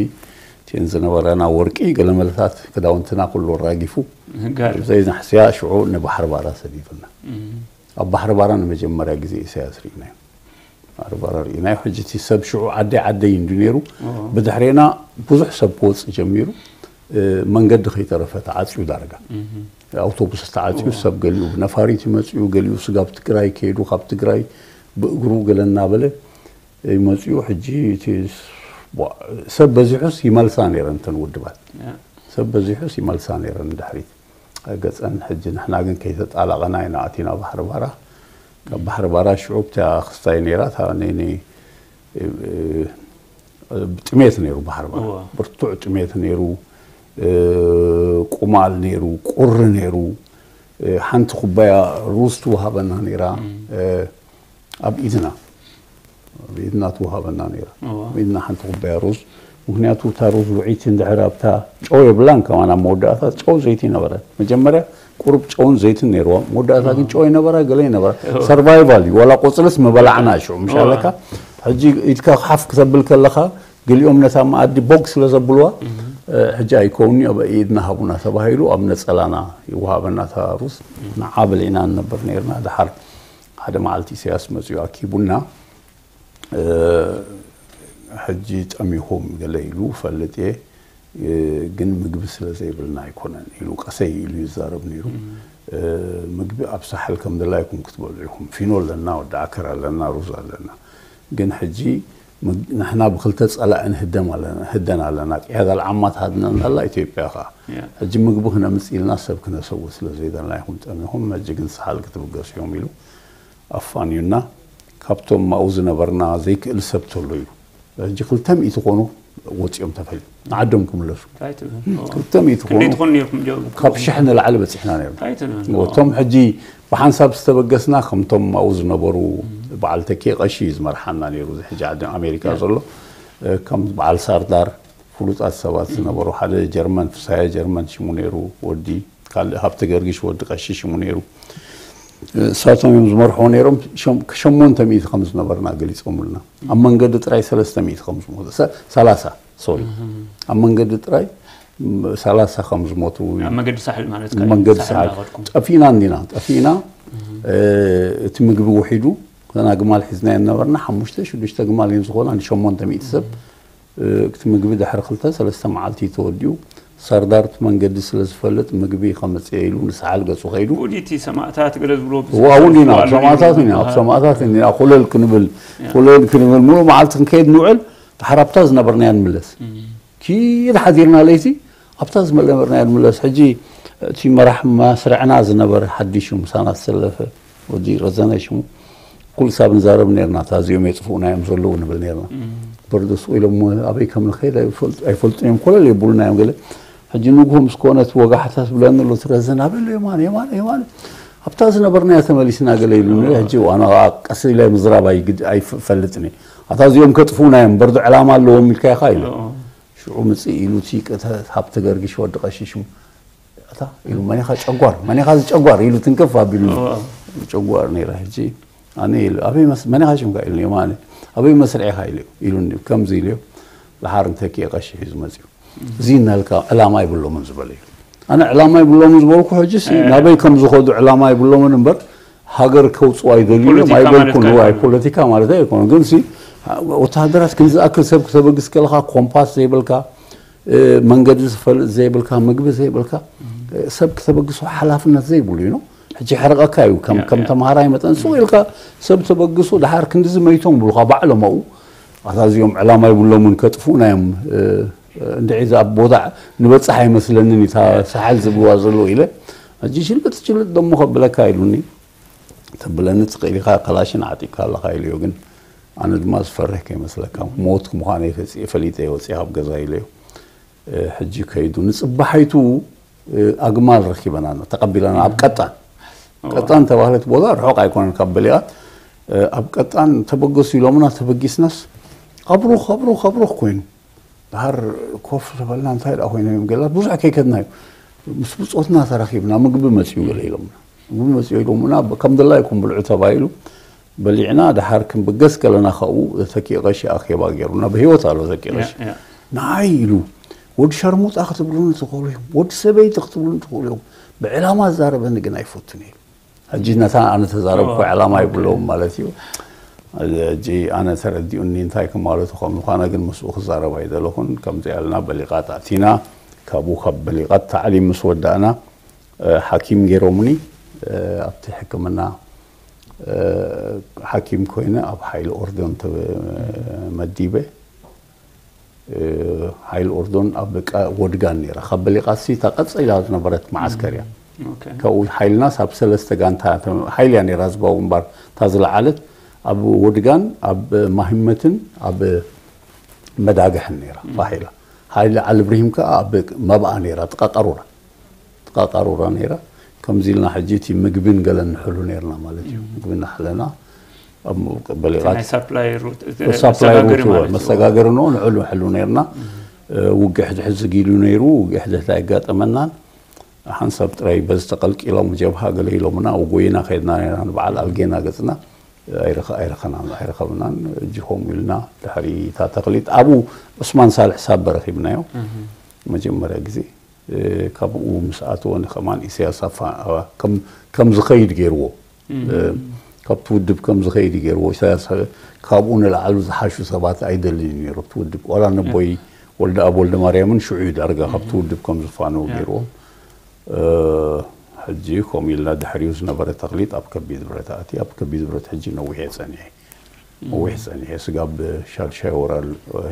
እቲአን ዝነበራና ወርቂ ገለመለታት ክዳውንትና ኩሉ ኣራጊፉ ዘይናሕስያ ሽዑ ንባሕሪ ባራ ሰዲዱና። ኣብ ባሕሪ ባራ ንመጀመርያ ግዜ ኢሳያስ ርኢናዮ። ባሕሪ ባራ ርኢናዮ። ሕጂ እቲ ሰብ ሽዑ ዓደይ ዓደይ እንዱ ነይሩ። ብድሕሬና ብዙሕ ሰብ ክወጽእ ጀሚሩ። መንገዲ ከይተረፈ ተዓጽዩ ዳርጋ። ኣውቶቡስ ተዓጽዩ ሰብ ገሊኡ ብነፋሪት ይመጽኡ ገሊኡ ስጋብ ትግራይ ከይዱ ካብ ትግራይ ብእግሩ ገለ እናበለ ይመጽኡ። ሕጂ እቲ ሰብ በዚሑስ ይመልሳ ነይረን እተን ውድባት ሰብ በዚሑስ ይመልሳ ነይረን ንድሕሪት ገጸን። ሕጂ ንሕና ግን ከይተጣላቐና ኢና ኣቲና ባሕሪ ባራ። ካብ ባሕሪ ባራ ሽዑ ብታ ክስታይ ነይራ እታ ነይነይ ጥሜት ነይሩ ባሕሪ ባራ። ብርቱዕ ጥሜት ነይሩ። ቁማል ነይሩ፣ ቁሪ ነይሩ። ሓንቲ ኩባያ ሩዝ ትወሃበና ነይራ። ኣብ ኢድና ኣብ ኢድና ትወሃበና ነይራ። ኣብ ኢድና ሓንቲ ኩባያ ሩዝ። ምክንያቱ እታ ሩዝ ውዒት እንድሕር ኣብታ ጨው የብላን ከማን ኣብ መወዳእታ ጨው ዘይቲ ነበረ። መጀመርያ ቁሩብ ጨውን ዘይትን ነይርዋ። መወዳእታ ግን ጨው ይነበራ ገለ ይነበራ። ሰርቫይቫል እዩ። ዋላ ቆፅልስ ምበላዕና ሽዑ ምሻለካ። ሕጂ ኢድካ ሓፍ ክተብል ከለካ ገሊኦም ነታ መኣዲ ቦግ ስለ ዘብልዋ ሕጂ ኣይከውንኒ ኣብ ኢድና ሃቡና ተባሂሉ ኣብ ነጸላና ይወሃበና እታ ሩዝ። ንዓ በሊዕና ንነብር ነይርና። ድሓር ሓደ መዓልቲ ኢሳያስ መጺኡ ኣኪቡና። ሕጂ ጠሚኹም ገለ ኢሉ ፈልጥ እየ። ግን ምግቢ ስለ ዘይብልና ኣይኮነን ኢሉ ቀሰይ ኢሉ ይዛረብ ነይሩ። ምግቢ ኣብ ሳሕል ከም ድላይኩም ክትበልዑ ኢኹም። ፊኖ ኣለና፣ ወዲ ዓከር ኣለና፣ ሩዝ ኣለና። ግን ሕጂ ንሕና ብክልተ ጸላኢ ንህደን ኣለና። ቅያዳ ልዓማ ትሃድነና ኣላ፣ ኢትዮጵያ ከኣ። ሕጂ ምግቢ ክነምጽእ ኢልና ሰብ ክነሰውእ ስለ ዘይደልና ኢኹም ጠሚኹም። ሕጂ ግን ሳሕል ክትብገሱ እዮም ኢሉ ኣፋንዩና። ካብቶም ኣብኡ ዝነበርና ዘይክእል ሰብ ተሎ ኢሉ ሕጂ ክልተ ሚእቲ ኮኑ ወፂኦም ተፈልዩ ንዓዶም ክምለሱ። ክልተ ሚእቲ ኮኑ ካብ ሽሕ ንላዕሊ በፂሕና ነርና። እቶም ሕጂ ብሓንሳብ ዝተበገስና ከምቶም ኣብኡ ዝነበሩ በዓል ተኪ ቀሺ እዩ ዝመርሓና ነይሩ። እዚ ሕጂ ዓዲ ኣሜሪካ ዘሎ ከም በዓል ሳርዳር ፍሉጣት ሰባት ዝነበሩ ሓደ ጀርመን ፍሳየ ጀርመን ሽሙ ነይሩ ወዲ ካልእ ሃብተ ገርግሽ ወዲ ቀሺ ሽሙ ነይሩ። እሳቶም እዮም ዝመርሕዎ ነይሮም። ሸሞንተ ሚእቲ ከም ዝነበርና ገሊፆምልና ኣብ መንገዲ ጥራይ ሰለስተ ሚእቲ ከም ዝሞቱ ሰላሳ ሶሪ ኣብ መንገዲ ጥራይ ሰላሳ ከም ዝሞቱ። መንገዲ ሳሕል ማለት መንገዲ ሳሕል ጠፊእና እንዲና ጠፊእና። እቲ ምግቢ ውሒዱ ከና ግማል ሒዝና የነበርና ሓሙሽተ ሽዱሽተ ግማል እዮም ዝኾና ንሸሞንተ ሚእቲ ሰብ። እቲ ምግቢ ድሕሪ ክልተ ሰለስተ መዓልቲ ተወዲኡ። ሰርዳር እቲ መንገዲ ስለ ዝፈልጥ ምግቢ ከመፅእ ኢሉ ንሰሓል ገፁ ከይዱ። ውዲቲ ሰማእታት ገለ ዝብሎ እውን ኢና ሰማእታት ኢና ኣብ ሰማእታት ኢና ኮለል ክንብል ኮለል ክንብል ሙሉእ መዓልቲ ክንከይድ ንውዕል። ድሓር ኣብታ ዝነበርናያ ንምለስ ኪድ ሓዲርና ለይቲ ኣብታ ዝነበርናያ ንምለስ። ሕጂ እቲ መራሕ መስርዕና ዝነበረ ሓዲሹ ምሳና ዝሰለፈ ወዲ ረዘነ ሽሙ ኩሉ ሳብ ንዛረብ ነርና። እታ እዚኦም የጥፍኡና እዮም ዘለዉ ንብል ነርና። በርዶ ስቕ ኢሎም ኣበይ ከም ንኸይድ ኣይፈልጡን እዮም ኮለል የብሉና እዮም ገለ። ሕጂ ንግሆ ምስ ኮነ እቲ ወጋሕታ ትብለኒ ኣሎ እቲ ረዘነ ኣበይ ኣሎ የማነ የማነ የማነ ኣብታ ዝነበርናያ ተመሊስና ገለ ኢሉኒ። ሕጂ ኣነ ኸዓ ቀስ ኢለ ምዝራብ ኣይፈልጥን እየ። ኣታ እዚኦም ከጥፍኡና እዮም በርዶ ዕላማ ኣለዎም ኢልካ ኢኻ ኢሉ ሽዑ ምፅእ ኢሉ እቲ ሃብተ ገርግሽ ወዲ ቀሺ ሽሙ ኣታ ኢሉ መን ኢኻ ጨጓር መን ኢኻ እዚ ጨጓር ኢሉ ትንክፍ ኣቢሉ ጨጓር ነይራ። ሕጂ ኣነ ኢሉ ኣበይ መስ መን ኢኻ ሽምካ ኢሉኒ፣ የማነ ኣበይ መስርዕ ኢኻ ኢሉ ኢሉኒ። ከምዚ ኢሉ ደሓር እንተኪ ቀሺ ሒዙ መጺኡ። እዚ እናልካ ዕላማ ይብሎምን ዝበለ እዩ። ኣነ ዕላማ ይብሎምን ዝበልኩ ሕጂ ሲ ናበይ ከም ዝኸዱ ዕላማ ይብሎምን እምበር ሃገር ከውፅኡ ኣይደልዩ እዮም ፖለቲካ ማለት ኣይበልኩን። ዋይ ኣይኮነን። ፖለቲካ ማለት ኣይኮነ ግን ሲ ወታደራት ክንዝኣክል ሰብ ክተበግስ ከለካ ኮምፓስ ዘይብልካ መንገዲ ዝፈልጥ ዘይብልካ ምግቢ ዘይብልካ ሰብ ክተበግሶ ሓላፍነት ዘይብሉ እዩ። ሕጂ ሕርቐካ እዩ ከም ከም ተምሃራይ መጠን ሱቕ ኢልካ ሰብ ተበግሶ ደሓር ክንድዚ መይቶም ብሉካ ባዕሎም ኣብኡ ኣታ እዚኦም ዕላማ ይብሎምን ከጥፍኡና እዮም። እንድዒ እዛ ቦታ ንበጽሕ ኣይመስለንን እታ ሳሕል ዝብልዋ ዘለዉ ኢለ ሕጂ ሽልጥ ሽልጥ ደሞ ከብለካ ኢሉኒ። ተብለኒ ትኽእል ኢኻ ከላሽን ዓጢቕካ ኣለኻ ኢሉዮ ግን ኣነ ድማ ዝፈርህ ከይመስለካ ሞት ምዃነይ ፈሊጠ ወፂ ካብ ገዛ ኢለዮ። ሕጂ ከይዱ ንፅባሓይቱ ኣግማል ረኪበና ተቀቢለና ኣብ ቀጣን ቀጣን ተባህለት ቦታ ርሑቅ ኣይኮነን ካብ በሊቃት ኣብ ቀጣን ተበገሱ ኢሎምና ተበጊስናስ ኣብሩኽ ኣብሩኽ ኣብሩኽ ኮይኑ ድሓር ኮፍ ዝበልና እንታይ ደኣ ኮይኖም እዮም ገላት ብዙሕ ከይከድና እዩ ምስ ብፆትና ተራኪብና ምግቢ መፅኡ ገለ ኢሎምና ምግቢ መፅኡ ኢሎምና ከም ድላይኩም ብልዑ ተባሂሉ በሊዕና ድሓር ክንብገስ ከለና ካብኡ ተኪኦ ቀሺ ኣኼባ ገይሩና ብህይወት ኣሎ ተኪኦ ቀሺ ንዓይ ኢሉ ወዲ ሸርሙጣ ክትብሉኒ ትኽእሉ እዮም ወዲ ሰበይቲ ክትብሉኒ ትኽእሉ እዮም ብዕላማ ዝዛረበኒ ግን ኣይፈቱን እዩ ሕጂ ነታ ኣነ ተዛረብኩ ዕላማ ይብለዎም ማለት እዩ ሕጂ ኣነ ተረዲኡኒ እንታይ ክማለቱ ከም ዝኾነ ግን ምስኡ ክዛረብ ኣይደለኹን ከምዚ ያልና በሊቓት ኣቲና ካብኡ ካብ በሊቓት ታዕሊም ምስ ወዳእና ሓኪም ገይሮምኒ ኣብቲ ሕክምና ሓኪም ኮይነ ኣብ ሓይሊ ኦርዶን ተመዲበ ሓይል ኦርዶን ኣብ ወድጋን ነራ ካብ በሊቃሲ እታ ቀፀ ኢላ ዝነበረት መዓስከር እያ ካብኡ ሓይልናስ ኣብ ሰለስተ ጋንታ ሓይል እያ ነራ ዝባው እምባር እታ ዝለዓለት ኣብ ወድጋን ኣብ ማሂመትን ኣብ መዳግሕን ነራ ፋሒላ ሓይሊ ዓሊ ብርሂም ከዓ ኣብ መብኣ ነራ ጥቃ ቀሩራ ጥቃ ቀሩራ ነራ ከምዚ ኢልና ሕጂ እቲ ምግብን ገለን ንሕሉ ነርና ማለት እዩ ምግቢ እናሕለና በሊቓት ሳፕላይ ሩት መሰጋገሪ ኖ ንዕሉ ሕሉ ነርና ውግሕ ድሕዚ ጊሉ ነይሩ ውግሕ ድሕዚ ኣይጋጠመናን ሓንሳብ ጥራይ በዚ ተቀልቂሎም ጀብሃ ገለ ኢሎምና ኣብ ጎይና ከድና ነርና ንበዓል ኣልጌና ገጽና ኣይረኸብናን ኣይረኸብናን እጅ ከምኡ ኢልና ድሕሪ እታ ተክሊት ኣብኡ ዑስማን ሳልሕ ሳበ ረኺብናዮ መጀመርያ ግዜ ካብኡ ምስ ኣተወ ንኸማን ኢሳያስ ኣፋ ከም ዝኸይድ ገይርዎ ካብቲ ውድብ ከም ዝኸይድ ገይርዎ ኢሳያስ ካብኡ ንላዕሉ ዝሓሹ ሰባት ኣይደልን እዩ ነይሩ ኣብቲ ውድብ ዋላ ነቦይ ወልደ ኣብ ወልደ ማርያምን ሽዑ እዩ ዳርጋ ካብቲ ውድብ ከም ዝፋነው ገይርዎም ሕጂ ከምኡ ኢልና ድሕሪኡ ዝነበረ ተኽሊጥ ኣብ ከቢድ ብረት ኣትየ ኣብ ከቢድ ብረት ሕጂ ነዊሕ እየ ጸኒሐ ነዊሕ ጸኒሐ ስጋብ ሻድሻይ ወራር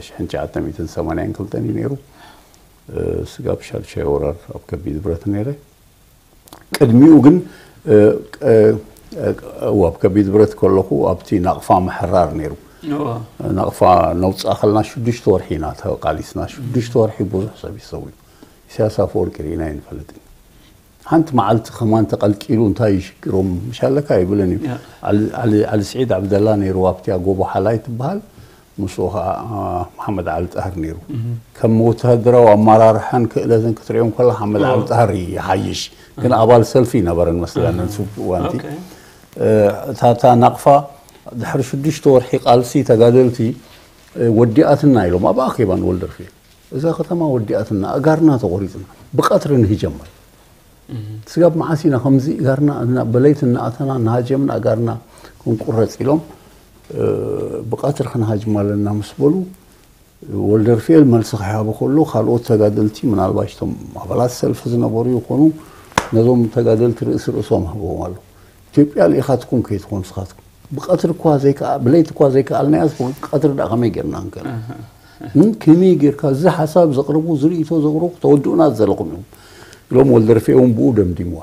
ሽሕን ትሽዓተ ሚእትን ሰማንያን ክልተን እዩ ነይሩ ስጋብ ሻድሻይ ወራር ኣብ ከቢድ ብረት ነይረ ቅድሚኡ ግን ኣብ ከቢድ ብረት ከለኹ ኣብቲ ናቕፋ ምሕራር ነይሩ ናቕፋ ነውፅኣ ከለና ሽዱሽተ ወርሒ ኢና ተቃሊስና ሽዱሽተ ወርሒ ብዙሕ ሰብ ይሰው ኢሳያስ ኣፈወርቂ ርኢና ይንፈልጥን ሓንቲ መዓልቲ ከማን ተቀልቂሉ እንታይ ይሽግሮም ምሻለካ ይብልን እዩ ዓሊ ስዒድ ዓብደላ ነይሩ ኣብቲያ ጎቦ ሓላይ ትበሃል ምስኡ ከዓ መሓመድ ዓሊ ጣህር ነይሩ ከም ወተሃደራዊ ኣመራርሓን ክእለትን ክትሪኦም ከላ ሓመድ ዓሊ ጣህር ይሓይሽ ግን ኣባል ሰልፊ ይነበረን መስለኒ ንሱ እዋንቲ እታ እታ ናቕፋ ድሕሪ ሽዱሽተ ወርሒ ቃልሲ ተጋደልቲ ወዲኣትና ኢሎም ኣብ ኣኼባ ንወልደርፌል እዛ ከተማ ወዲኣትና ኣጋርና ተቆሪፅና ብቀትሪ ንህጀመር ስጋብ መዓስ ኢና ከምዚ ኢጋርና በለይቲ እናኣተና እናሃጀምና ኣጋርና ክንቁረፅ ኢሎም ብቀትሪ ክንሃጅም ኣለና ምስ በሉ ወልደርፍኤል መልሲ ክሃበ ከሎ ካልኦት ተጋደልቲ ምናልባሽ ቶም ኣባላት ሰልፊ ዝነበሩ ይኾኑ ነዞም ተጋደልቲ ርእሲ ርእሶም ህበዎም ኣሎ ኢትዮጵያ ልኢኻትኩም ከይትኾኑ ስኻትኩም ብቀትሪ እኳ ዘይከኣ ብለይቲ እኳ ዘይከኣልናያስ ቀትሪ ደኣ ከመይ ጌርና ንከል ከመይ ጌርካ እዚ ሓሳብ ዘቕርቡ ዝርእቶ ዘቕርቡ ተወድኡና ዘለኹም እዮም ኢሎም ወልደርፌ እውን ብኡ ደምዲምዋ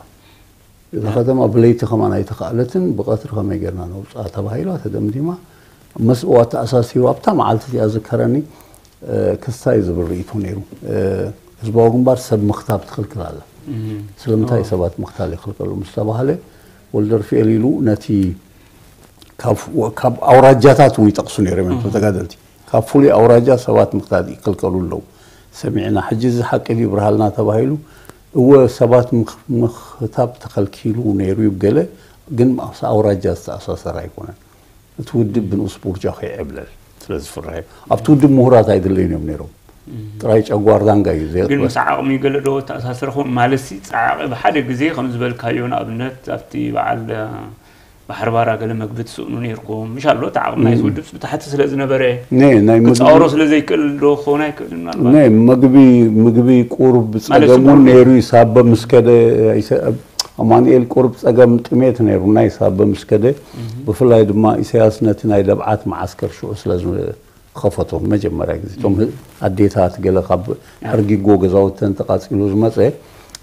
እዛ ከተማ ብለይቲ ከማን ኣይተኻእለትን ብቀትሪ ከመይ ጌርና ነውፅኣ ተባሂላ ተደምዲማ መስእዋ ተኣሳሲሩ ኣብታ መዓልቲ እዚኣ ዝከረኒ ክስታይ ዝብል ርእይቶ ነይሩ ህዝባዊ ግንባር ሰብ ምኽታብ ትኽልክል ኣላ ስለምንታይ ሰባት ምኽታል ይኽልከሉ ምስ ተባህለ ወልደርፍኤል ኢሉ ነቲ ካብ ኣውራጃታት እውን ይጠቕሱ ነይሮም እዮም ተጋደልቲ ካብ ፍሉይ ኣውራጃ ሰባት ምኽታል ይክልከሉ ኣለዉ ሰሚዕና ሕጂ እዚ ሓቂ ድዩ ብርሃልና ተባሂሉ እወ ሰባት ምኽታብ ተኸልኪሉ ነይሩ እዩ ገለ ግን ምስ ኣውራጃ ዝተኣሳሰረ ኣይኮነን። እቲ ውድብ ብንኡስ ቡርጃ ከይዕብለል ስለ ዝፍርሐ ኣብቲ ውድብ ምሁራት ኣይድለዩን እዮም ነይሮም። ጥራይ ጨጓር ዳንጋ እዩ ግን ዘየቕበል። ምስ ዓቕሚ ገለ ዶ ተኣሳሰረ ኾን ማለት ሲ ፃዕቂ ብሓደ ግዜ ከም ዝበልካዮ ንኣብነት ኣብቲ በዓል ባሕሪ ባራ ገለ መግቢ ትስእኑ ነይርኩም ምሽ ኣሎ እቲ ዓቕሚ ናይ ውድብ ብታሕቲ ስለ ዝነበረ ነ ናይ ምግቢ ክፃወሮ ስለ ዘይክእል ዶ ክኸውን ኣይክእልን ምናልባት ናይ ምግቢ ምግቢ ቁሩብ ማለት ጸገሙ ስሙር ነይሩ ይሳበ ምስ ከደ ኣይሰ- ኣማኑኤል ቁሩብ ጸገም ጥሜት ነይሩ ናይ ሳበ ምስ ከደ ብፍላይ ድማ ኢሳያስ ነቲ ናይ ደብዓት መዓስከር ሽዑ ስለ ዝኸፈቶ መጀመርያ ግዜ እቶም ኣዴታት ገለ ካብ ሕርጊጎ ገዛውተን ተቃጺሉ ዝመጸ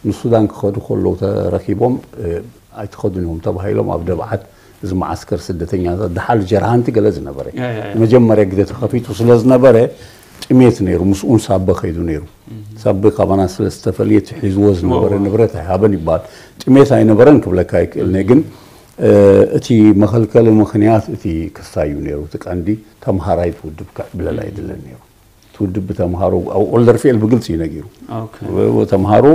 ንሱዳን ክኸዱ ከለዉ ተረኪቦም እ፣ ኣይትኸዱን እዮም ተባሂሎም ኣብ ደብዓት እዚ መዓስከር ስደተኛታት ደሓር ጀርሃንቲ ገለ ዝነበረ ያ፣ ያ፣ ያ። መጀመርያ ግዜ ተኸፊቱ ስለ ዝነበረ ጥሜት ነይሩ ምስኡን ሳበ ከይዱ ነይሩ ሳበ ካባና ስለ ዝተፈልየ እቲ ሒዝዎ ዝነበረ እዎ። ንብረት ኣይሃበን ይበሃል ጥሜት ኣይነበረን ክብለካ ይክእል ነ ግን እ፣ እቲ መኸልከሊ ምኽንያት እቲ ክስታይ እዩ ነይሩ እቲ ቀንዲ ተምሃራይ ትውድብ ክዕብለል ኣይድለን ነይሩ ትውድብ ብተምሃሮ ኣብ ኦልደርፌል ብግልፂ እዩ ነጊሩ ኦኬ። ተምሃሮ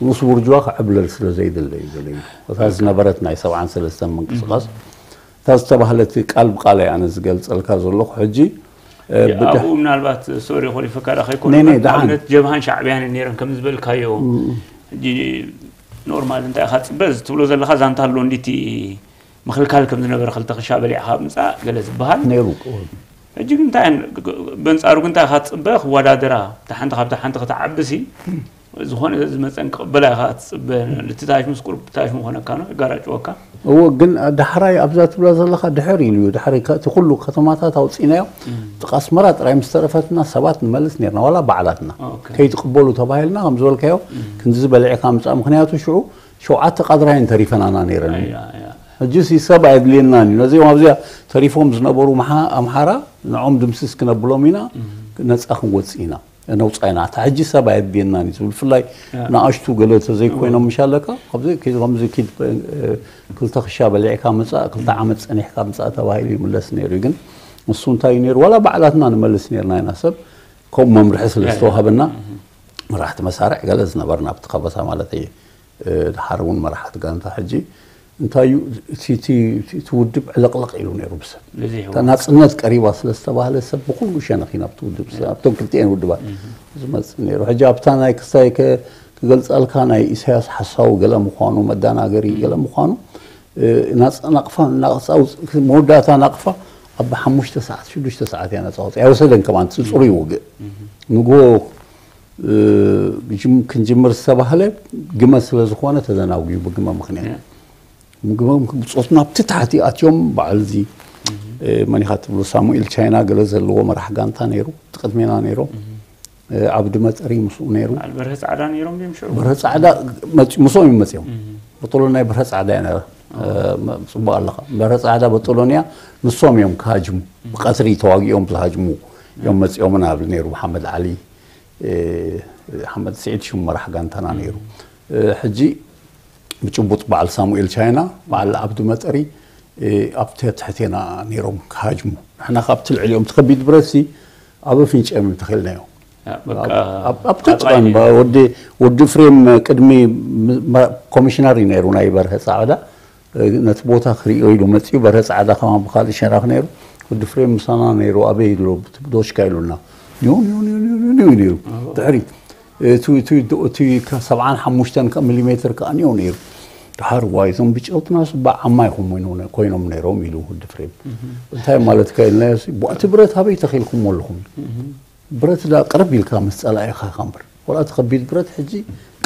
ንኡስ ቡርጅዋ ክዕብለል ስለ ዘይደለ እዩ ደለዩ እታ ዝነበረት ናይ ሰብዓን ሰለስተን ምንቅስቃስ እታ ዝተባህለት ቃል ብቃል ኣነ ዝገልፀልካ ዘለኹ ሕጂ እ፣ ብድሕ- ኣብኡ ምናልባት ሶሪ ኮሊፈካ ዳ ከይኮኑ ነይ፣ ነይ፣ ግን ደሓን። ኣብነት ጀብሃን ሻዕብያን ነይረን ከም ዝበልካዮ ሕጂ ኖርማል እንታይ ኢኻ ትፅበ እዚ ትብሎ ዘለካ ዛንታ ኣሎ እንዲቲ ምክልካል ከም ዝነበረ ክልተ ክሻ በሊዕካ ምፃእ ገለ ዝበሃል ነይሩ ሕጂ ግን እንታይ በንፃሩ ግን እንታይ ኢኻ ትፅበ ክወዳደራ እታ ሓንቲ ካብታ ሓንቲ ክትዓብሲ ዝኾነ ዝመፀን ክቕበላ ኢኻ ትፅበ ልትታሽ ምስ ቁርብ ታሽ ምኾነካ ነው ይጋራጭወካ እዎ ግን ዳሕራይ ኣብዛ ትብላ ዘለካ ድሕር ኢሉ እዩ ድሕሪ ከ- እቲ ኩሉ ከተማታት ኣውፂናዮ ጥቃ ኣስመራ ጥራይ ምስ ተረፈትና ሰባት ንመልስ ነርና ዋላ ባዕላትና ኦኬ። ከይትቅበሉ ተባሂልና ከም ዝበልካዮ ክንዚ ዝበልዕካ ምፃእ ምክንያቱ ሽዑ ሸውዓተ ቃድራይን ተሪፈናና ነይረን ያ፣ ያ። ሕጂ ሲ ሰብ ኣየድልየናን እዩ ነዚኦም ኣብዚኣ ተሪፎም ዝነበሩ ምሓ- ኣምሓራ ንዖም ድምስስ ክነብሎም ኢና ነፃ ክንወፅእ ኢና ነውፃ ኢና እታ ሕጂ ሰብ ኣየድልየናን እዩ ዝብል ብፍላይ ንኣሽቱ ገለ ተዘይኮይኖም ምሽ ኣለካ ኣብዚ ኪድ ከምዚ ኪድ እ፣ ክልተ ክሻ በሊዕካ ምፃእ ክልተ ዓመት ፀኒሕካ ምፃእ ተባሂሉ ይምለስ ነይሩ እዩ ግን ንሱ እንታይ እዩ ነይሩ ዋላ ባዕላትና ንመልስ ነርና ኢና ሰብ ከምኡ መምርሒ ስለ ዝተዋሃበና መራሕቲ መሳርዕ ገለ ዝነበርና ኣብቲ ከበሳ ማለት እዩ እ፣ ድሓር እውን መራሕቲ ጋንታ ሕጂ እንታይ እዩ እቲ- እቲ እቲ ውድብ ዕልቕልቕ ኢሉ ነይሩ ብሰብ እዚ ይህዋ እታ ናፅነት ቀሪባ ስለ ዝተባህለ ሰብ ብኩሉ ሸነኽ ኢና ኣብቲ ውድብ ሰብ ኣብቶም ክልቲኤን ውድባት ዝመፅእ ነይሩ ሕጂ ኣብታ ናይ ክስታይ ከ- ክገልፀልካ ናይ ኢሳያስ ሓሳዊ ገለ ምዃኑ መዳናገሪ ገለ ምዃኑ እ፣ ናፃ ናቕፋ ናቕፃ ውፅ- መወዳእታ ናቕፋ ኣብ ሓሙሽተ ሰዓት ሽዱሽተ ሰዓት እያ ነፃ ወፅእ ኣይወሰደን ከማን ፅፁር ይውግእ ንጎ እ፣ ግጅም- ክንጅምር ዝተባህለ ግመ ስለ ዝኾነ ተዘናጉዩ ብግመ ምክንያት ምግቦም ብፆት ናብቲ ታሕቲ ኣትዮም በዓል እዚ እ፣ መን ኢኻ ትብሉ ሳሙኤል ቻይና ገለ ዘለዎ መራሕ ጋንታ ነይሩ እቲ ቅድሜና ነይሮም እ፣ ዓብዲ መጠሪ ምስኡ ነይሩ በዓል በርሀ ፃዕዳ ነይሮም ድዮም ሽዑ በርሀ ፃዕዳ መፂ- ምስኦም እዮም መፅኦም በጦሎንያ በርሀ ፃዕዳ እያ ነራ እ፣ መ- ፅቡቅ ኣለካ በርሀ ፃዕዳ በጦሎንያ ንሶም እዮም ክሃጅሙ ብቀትሪ ተዋጊኦም ዝሃጅሙ እዮም መፂኦም ናብ ነይሩ መሓመድ ዓሊ እ፣ ሓመድ ስዒድ ሽሙ መራሕ ጋንታና ነይሩ እ፣ ሕጂ ብጭቡጥ በዓል ሳሙኤል ቻይና በዓል ዓብዲ መጠሪ እ፣ ኣብ ትሕቴና ነይሮም ክሃጅሙ ንሕና ካብቲ ልዕሊኦም ትከቢድ ብረት ሲ ኣብ ኣፍንጭኦም ተኺልናዮ በቃ ኣብ ተጭቃን ወዲ ወዲ ፍሬም ቅድሚ ም- ማ- ኮሚሽነር እዩ ነይሩ ናይ በርሀ ፃዕዳ እ፣ ነቲ ቦታ ክሪኦ ኢሉ መፅኡ በርሀ ፃዕዳ ከማ ብካልእ ሸነኽ ነይሩ ወዲ ፍሬም ምሳና ነይሩ ኣበይ ኢሉ ዶሽካ ኢሉና ኒው ኒው ኒው ኒው ኒው ኒው ነይሩ ድሕሪ እቲ እቲ እቲ ከ- ሰብዓን ሓሙሽተን ከ- ሚሊሜትር ከዓ ኒው ነይሩ ድሓር ዋይ እዞም ብጨውትና ስባዕ ዓማ ይኹም ኮይኖም- ኮይኖም ነይሮም ኢሉ ወዲ ፍሬም እንታይ ማለት ከ ኢልናዮ ሲ፣ ቧ- እቲ ብረት ኣበይ ተኺልኩሞ ኣለኹም ብረት ዳ ቅርብ ኢልካ ምስ ጸላኢኻ ኢኻ እምበር ወላ እቲ ከቢድ ብረት ሕጂ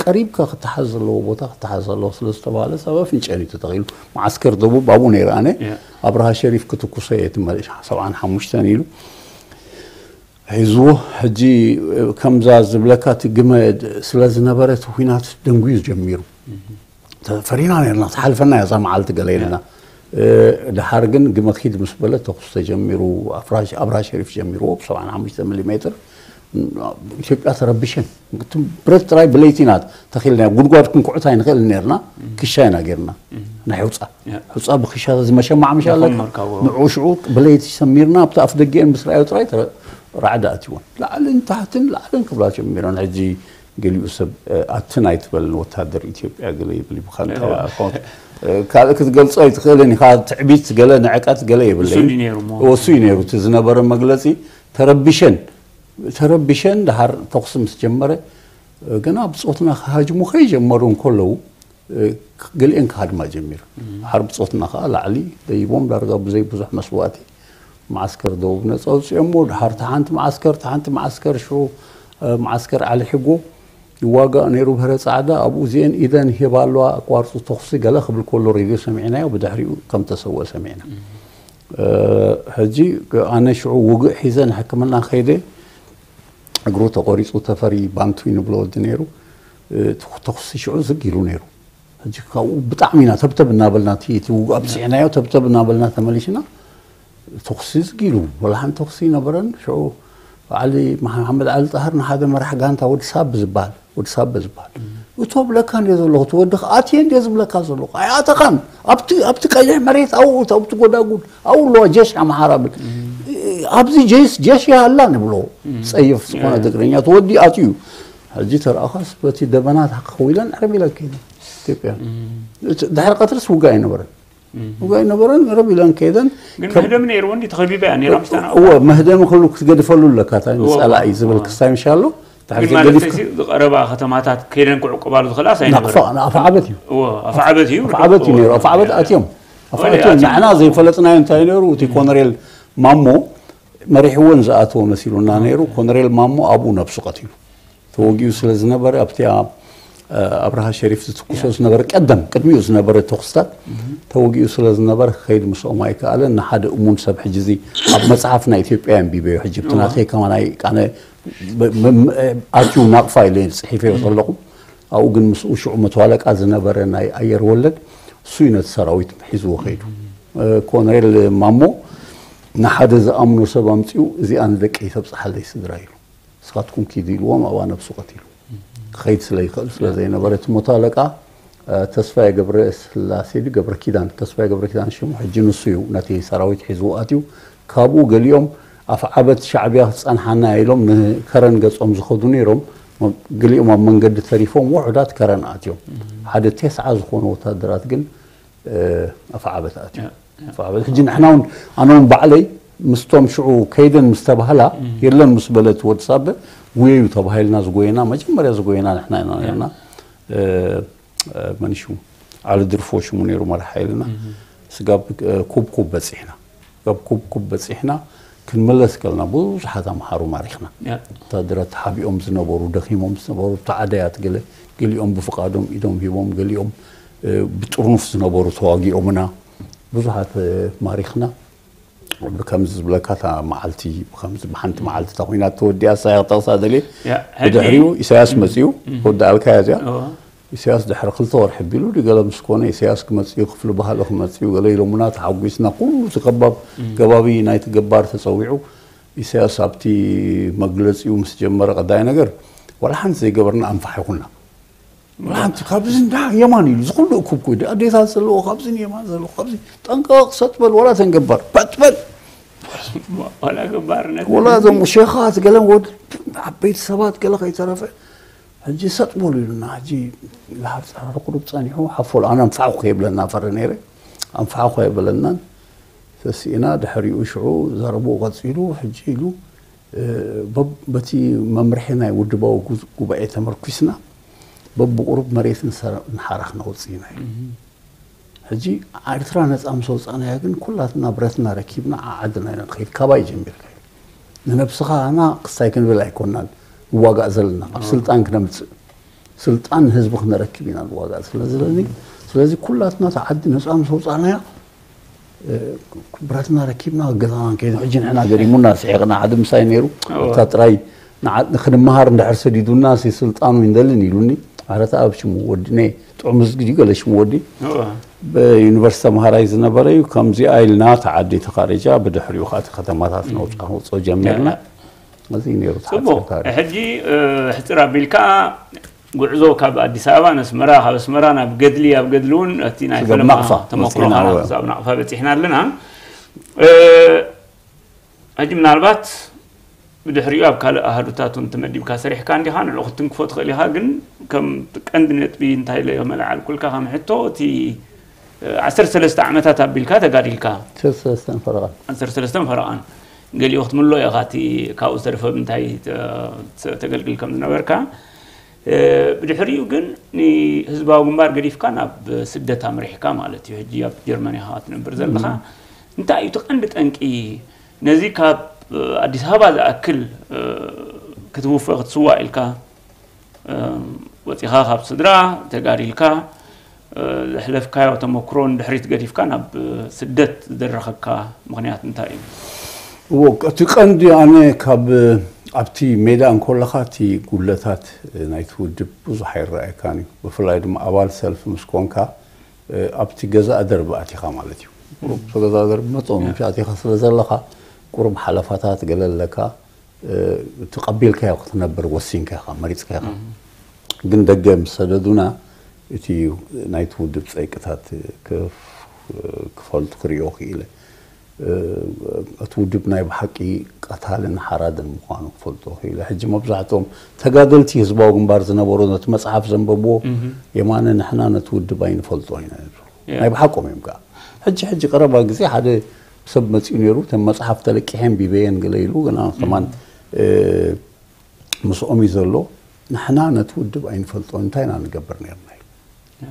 ቀሪብካ ክተሓዝ ዘለዎ ቦታ ክተሓዝ ዘለዎ ስለ ዝተባህለ ሰብ ኣፍንጨን እዩ ተተኺሉ መዓስከር ደቡብ ኣብኡ ነይረ ኣነ ኣብርሃ ሸሪፍ ክትኩሶ እየ እቲ መ- ሰብዓን ሓሙሽተን ኢሉ ሒዝዎ ሕጂ ከምዛ ዝብለካ እቲ ግመ ስለ ዝነበረ እቲ ኩናት ደንጉዩ ጀሚሩ ፈሪና ነርና ትሓልፈና እያ እዛ መዓልቲ ገለ ኢልና ድሓር ግን ግመ ኪድ ምስ በለ ተኩስ ተጀሚሩ ኣብራ ሸሪፍ ጀሚርዎ ብ ሰብዓን ሓሙሽተ ሚሊ ሜትር ኢትዮጵያ ተረቢሸን ብረት ጥራይ ብለይቲ ኢና ተኺልና ጉድጓድ ክንኩዕት ኣይንኽእል ነርና ክሻ ኢና ጌርና ናይ ሕውፃ ሕውፃ ብክሻ ዝመሸማዕ ምሽ ኣለካ ንዑ ሽዑ ብለይቲ ሰሚርና ኣብቲ ኣፍ ደጊአን ምስ ረኣዮ ጥራይ ራዕዲ ኣትወን ላዕልን ታሕትን ላዕልን ክብላ ጀሚረን ሕጂ ገሊኡ ሰብ ኣትን ኣይትበልን ወታደር ኢትዮጵያ ገለ ይብል ይብካ እንታይ ካልእ ክትገልጾ ኣይትኽእልን ኢኻ። ትዕቢት ገለ ንዕቀት ገለ የብለይ። እሱ እዩ ነይሩ ዝነበረ መግለጺ። ተረቢሸን ተረቢሸን ድሓር ተኹሲ ምስ ጀመረ ገና ብጾትና ክሃጅሙ ከይጀመሩ እንከለዉ ገሊኤን ክሃድማ ጀሚሩ። ድሓር ብጾትና ከዓ ላዕሊ ደይቦም ዳርጋ ብዘይ ብዙሕ መስዋእቲ መዓስከር ደቡብ ነፃ ኣውፂኦሞ። ድሓር ተሓንቲ መዓስከር ተሓንቲ መዓስከር ሽዑ መዓስከር ዓሊ ሕጎ ይዋጋእ ነይሩ። ብህረ ፃዕዳ ኣብኡ እዚአን ኢደን ሂባ ኣለዋ ኣቋርፁ ተኹሲ ገለ ክብል ከሎ ሬድዮ ሰሚዕናዮ። ብድሕሪኡ ከም ተሰወ ሰሚዕና። ሕጂ ኣነ ሽዑ ውግእ ሒዘ ንሕክምና ከይደ እግሩ ተቆሪፁ ተፈሪ ባንቱ ንብሎ ወዲ ነይሩ። ተኹሲ ሽዑ ዝግ ኢሉ ነይሩ። ሕጂ ካብኡ ብጣዕሚ ኢና ተብተብ እናበልና እቲ ውግእ ኣብፅሕናዮ ተብተብ እናበልና ተመሊሽና። ተኹሲ ዝግ ኢሉ ወላ ሓንቲ ተኹሲ ይነበረን። ሽዑ ዓሊ መሓመድ ዓሊ ጣህር ንሓደ መራሕ ጋንታ ወዲ ሳብ ዝበሃል ወዲ ሳበ ዝበሃል እቶ ብለካ እንደ ዘለኹ እቲ ወዲ ኣትየ እንደ ዝብለካ ዘለኹ ኣይኣተኻን። ኣብቲ ኣብቲ ቀይሕ መሬት ኣብኡ ኣብቲ ጎዳጉድ ኣብኡ ኣለዋ ጀሽ ኣምሓራ ብል ኣብዚ ጀስ ጀሽ ይሃላ ንብሎ። ፀይፍ ዝኾነ ትግርኛ እቲ ወዲ ኣትዩ። ሕጂ ተረኣኻስ በቲ ደበና ተኸዊለን ዕርብ ኢለን ከይደን ኢትዮጵያ። ድሕሪ ቀትርስ ውጋ ኣይነበረን። ውጋ ኣይነበረን። ዕርብ ኢለን ከይደን። ግን መህደም ነይርዎ እንዲ ተኸቢባ እያ ነይራ ምስታና። እወ መህደም ክሉ ክትገድፈሉ ኣለካ ታይ ንፀላኢ ዝብል ክስታይ ምሻ ኣሎ። ድሕሪ ግን ማለት ዘይገዲፍካ እዚ ዝቐረባ ከተማታት ከይደን ክዕቁባሉ ዝኽእላስ ኣይነበረን። ናቕፋ ናቕፋ ዓበት እዩ። እወ ኣፍዓበት እዩ። ኣፍዓበት እዩ ነይሩ። ኣፍዓበት ኣትዮም ኣፍዓበት ኣትዮም። ንሕና ዘይፈለጥናዮ እንታይ ነይሩ እቲ ኮነሬል ማሞ መሪሕወን ዝኣተወ መሲሉና ነይሩ። ኮነሬል ማሞ ኣብኡ ነብሱ ቀቲሉ ተወጊኡ ስለ ዝነበረ ኣብቲ ኣብርሃ ሸሪፍ ዝትኩሶ ዝነበረ ቀደም ቅድሚኡ ዝነበረ ተኹስታት ተወጊኡ ስለ ዝነበረ ክኸይድ ምስኦም ኣይከኣለን። ንሓደ እሙን ሰብ ሕጂ እዚ ኣብ መፅሓፍ ናይ ኢትዮጵያ ኣንቢበዮ ሕጂ ብቲ ናተይ ከማን ኣይ ቃነ ኣትዩ ናቕፋ ኢለ ፅሒፈዮ ከለኹ ኣብኡ ግን ምስኡ ሽዑ መቶ ኣለቃ ዝነበረ ናይ ኣየር ወለድ እሱ እዩ ነቲ ሰራዊት ሒዝዎ ከይዱ። ኮነሬል ማሞ ንሓደ ዝኣምኖ ሰብ ኣምፅኡ እዚኣ ንደቀይ ተብፅሓለይ ስድራ ኢሉ ንስኻትኩም ኪዱ ኢልዎም ኣብኣ ነብሱ ቀቲሉ ክኸይድ ስለ ይኽእል ስለ ዘይነበረ እቲ ሞቶ ኣለቃ ተስፋየ ገብረ ስላሴ ድዩ ገብረ ኪዳን ተስፋየ ገብረ ኪዳን ሽሙ ሕጂ ንሱ እዩ ነቲ ሰራዊት ሒዝዎ ኣትዩ። ካብኡ ገሊኦም ኣፍዓበት ሻዕብያ ክፀንሓና ኢሎም ንከረን ገፆም ዝኸዱ ነይሮም። ገሊኦም ኣብ መንገዲ ተሪፎም ውሑዳት ከረን ኣትዮም። ሓደ ቴስዓ ዝኾኑ ወታደራት ግን ኣፍዓበት ኣትዮም። ኣፍዓበት ሕጂ ንሕና እውን ኣነ እውን ባዕለይ ምስቶም ሽዑ ከይደን ምስ ተባህላ የለን ምስ በለት ወዲ ሳበ ጉየዩ ተባሂልና ዝጎየና መጀመርያ ዝጎየና ንሕና ኢና ነርና። መን ሽሙ ዓሊ ድርፎ ሽሙ ነይሩ መራሒ ሓይልና። ስጋብ ኩብኩብ በፂሕና ስጋብ ኩብኩብ በፂሕና ክንምለስ ከለና ብዙሓት ኣምሓሩ ማሪኽና። ወታደራት ተሓቢኦም ዝነበሩ ደኺሞም ዝነበሩ ተዓደያት ገለ ገሊኦም ብፍቓዶም ኢዶም ሂቦም ገሊኦም ብጥርኑፍ ዝነበሩ ተዋጊኦምና ብዙሓት ማሪኽና። ብከምዚ ዝብለካ እታ መዓልቲ ብከምዚ ብሓንቲ መዓልቲ እታ ኮይና ተወዲኣ ሳያ ክጠቕሳ ደልየ። ብድሕሪኡ ኢሳያስ መፅኡ ወዳኣልካያ እዚኣ ኢሳያስ ድሕሪ ክልተ ወርሒ ቢሉ ድገለ ምስ ኮነ ኢሳያስ ክመፅኡ ክፍሊ ባህሊ ክመፅኡ ገለ ኢሎሙና ተሓጒስና ኩሉ እቲ ከባብ ገባቢ ናይቲ ገባር ተፀዊዑ ኢሳያስ ኣብቲ መግለፂኡ ምስ ጀመረ ቀዳይ ነገር ዋላ ሓንቲ ዘይገበርና ኣንፋሕ ይኹና ሓንቲ ካብዚ እንዳ የማን ኢሉ ዝኩሉ እኩብ ኮይዱ ኣዴታት ዘለዎ ካብዚ የማን ዘለዎ ካብዚ ጠንቀቕ ሰጥበል ወላ ተንገባር ፓጥበል ዋላ ገባርነት ወላ እዞም ሸኻት ገለን ወድ ዓበይቲ ሰባት ገለ ከይተረፈ ሕጂ ሰጥ በሉ ኢሉና ሕጂ ለሃብ ፀራሪ ቁሩብ ፀኒሑ ሓፎል ኣነ ንፋዕኩ ከይብለና ፈሪ ነይረ ኣንፋዕኩ ኣይበለናን ተስኢና ድሕሪኡ ሽዑ ዘረብኡ ቀፂሉ ሕጂ ኢሉ በቲ መምርሒ ናይ ውድባዊ ጉባኤ ተመርኲስና በብቁሩብ መሬት ንሓራ ክነውፅእ ኢና ኢሉ ሕጂ ኤርትራ ነፃ ምስ ወፃእናያ ግን ኩላትና ብረትና ረኪብና ዓዓድና ኢና ንኸይድ ካባይ ጀሚርካ ኢሉ ንነብስኻ ኣና ክስታይ ክንብል ኣይኮናን ንዋጋእ ዘለና ካብ ስልጣን ክነምፅእ ስልጣን ንህዝቢ ክነረክብ ኢና ንዋጋእ ስለ ስለዚ ስለዚ ኩላትና ተዓዲ ነፃ ምስ ወፃእናያ ብረትና ረኪብና ገዛና ከይዱ ሕጂ ንሕና ገሪሙና ስሒቕና ሓደ ምሳይ ነይሩ እታ ጥራይ ክንመሃር እንድሕር ሰዲዱና ሲ ስልጣኑ ይንደልን ኢሉኒ ኣረታ ኣብ ሽሙ ወዲ ነ ጥዑም ዝግዲ ገለ ሽሙ ወዲ ብዩኒቨርሲቲ ተምሃራይ ዝነበረ እዩ ከምዚኣ ኢልና ተዓዲ ተኻሪጃ ብድሕሪኡ ከዓ ከተማታት ነውፃ ነውፅኦ ጀሚርና እዚ ነይሩ ጽቡቕ። ሕጂ ሕጽር ኣቢልካ ጉዕዞ ካብ ኣዲስ ኣበባ ነስመራ ካብ ኣስመራ ናብ ገድሊ ኣብ ገድሊ እውን እቲ ናይ ፈለማ ተመክሮኻ ክሳብ ናቕፋ በፂሕና ኣለና። ሕጂ ምናልባት ብድሕሪኡ ኣብ ካልእ ኣሃዱታት እውን ተመዲብካ ሰሪሕካ እንዲኻ፣ ንዑ ክትትንክፎ ትኽእል ኢኻ። ግን ከም ቀንዲ ነጥቢ እንታይ ኢለ መልዓልኩልካ ከም ሕቶ፣ እቲ ዓሰርተ ሰለስተ ዓመታት ኣቢልካ ተጋዲልካ። ዓሰርተ ሰለስተ ፈረቓን። ዓሰርተ ሰለስተ ፈረቓን። ገሊኡ ክትምሎ ኢኻ፣ እቲ ካብኡ ዝተረፈ ብምንታይ ተ-፣ ተ-፣ ተገልግል ከም ዝነበርካ። ብድሕሪኡ ግን ንህዝባዊ ግንባር ገዲፍካ ናብ ስደት ኣምሪሕካ ማለት እዩ። ሕጂ ኣብ ጀርመን ኢኻ ትነብር ዘለኻ። እንታይ እዩ እቲ ቀንዲ ጠንቂ? ነዚ ካብ ኣዲስ ኣበባ ዝኣክል ክትውፈ ክትስዋእ ኢልካ፣ ወፂኻ ካብ ስድራ ተጋዲልካ፣ ዘሕለፍካዮ ተመክሮ ንድሕሪት ገዲፍካ ናብ ስደት ዝደረኸካ ምኽንያት እንታይ እዩ? እዎ፣ እቲ ቀንዲ ኣነ ካብ ኣብቲ ሜዳ እንከለኻ እቲ ጉድለታት ናይቲ ውድብ ብዙሕ ኣይረኣየካን እዩ። ብፍላይ ድማ ኣባል ሰልፊ ምስ ኮንካ፣ ኣብቲ ገዛእ ደርቢ ኣቲኻ ማለት እዩ። ቁሩብ ገዛእ ደርቢ መጠኑ ኣቲኻ ስለ ዘለኻ፣ ቁሩብ ሓለፋታት ገለ ኣለካ፣ ተቐቢልካዮ ክትነብር ወሲንካ ኢኻ፣ መሪጽካ ኢኻ። ግን ደገ ምስ ሰደዱና፣ እቲ ናይቲ ውድብ ጸይቅታት ክፍ-፣ ክፈልጡ ክርእዮ ክኢለ። እቲ ውድብ ናይ ብሓቂ ቀታልን ሓራድን ምዃኑ ክፈልጦ ክኢለ። ሕጂ መብዛሕትኦም ተጋደልቲ ህዝባዊ ግንባር ዝነበሩ ነቲ መጽሓፍ ዘንበብዎ፣ የማነ፣ ንሕና ነቲ ውድብ ኣይንፈልጦ ኢና ይብሉ። ናይ ብሓቆም እዮም ከኣ። ሕጂ፣ ሕጂ ቀረባ ግዜ ሓደ ሰብ መጺኡ ነይሩ፣ እተን መጽሓፍ ተለቂሐን ቢበየን ገለ ኢሉ፣ ግና ከማን፣ እ፣ ምስኦም እዩ ዘሎ። ንሕና ነቲ ውድብ ኣይንፈልጦን፣ እንታይ ኢና ንገብር ነርና ኢሉ።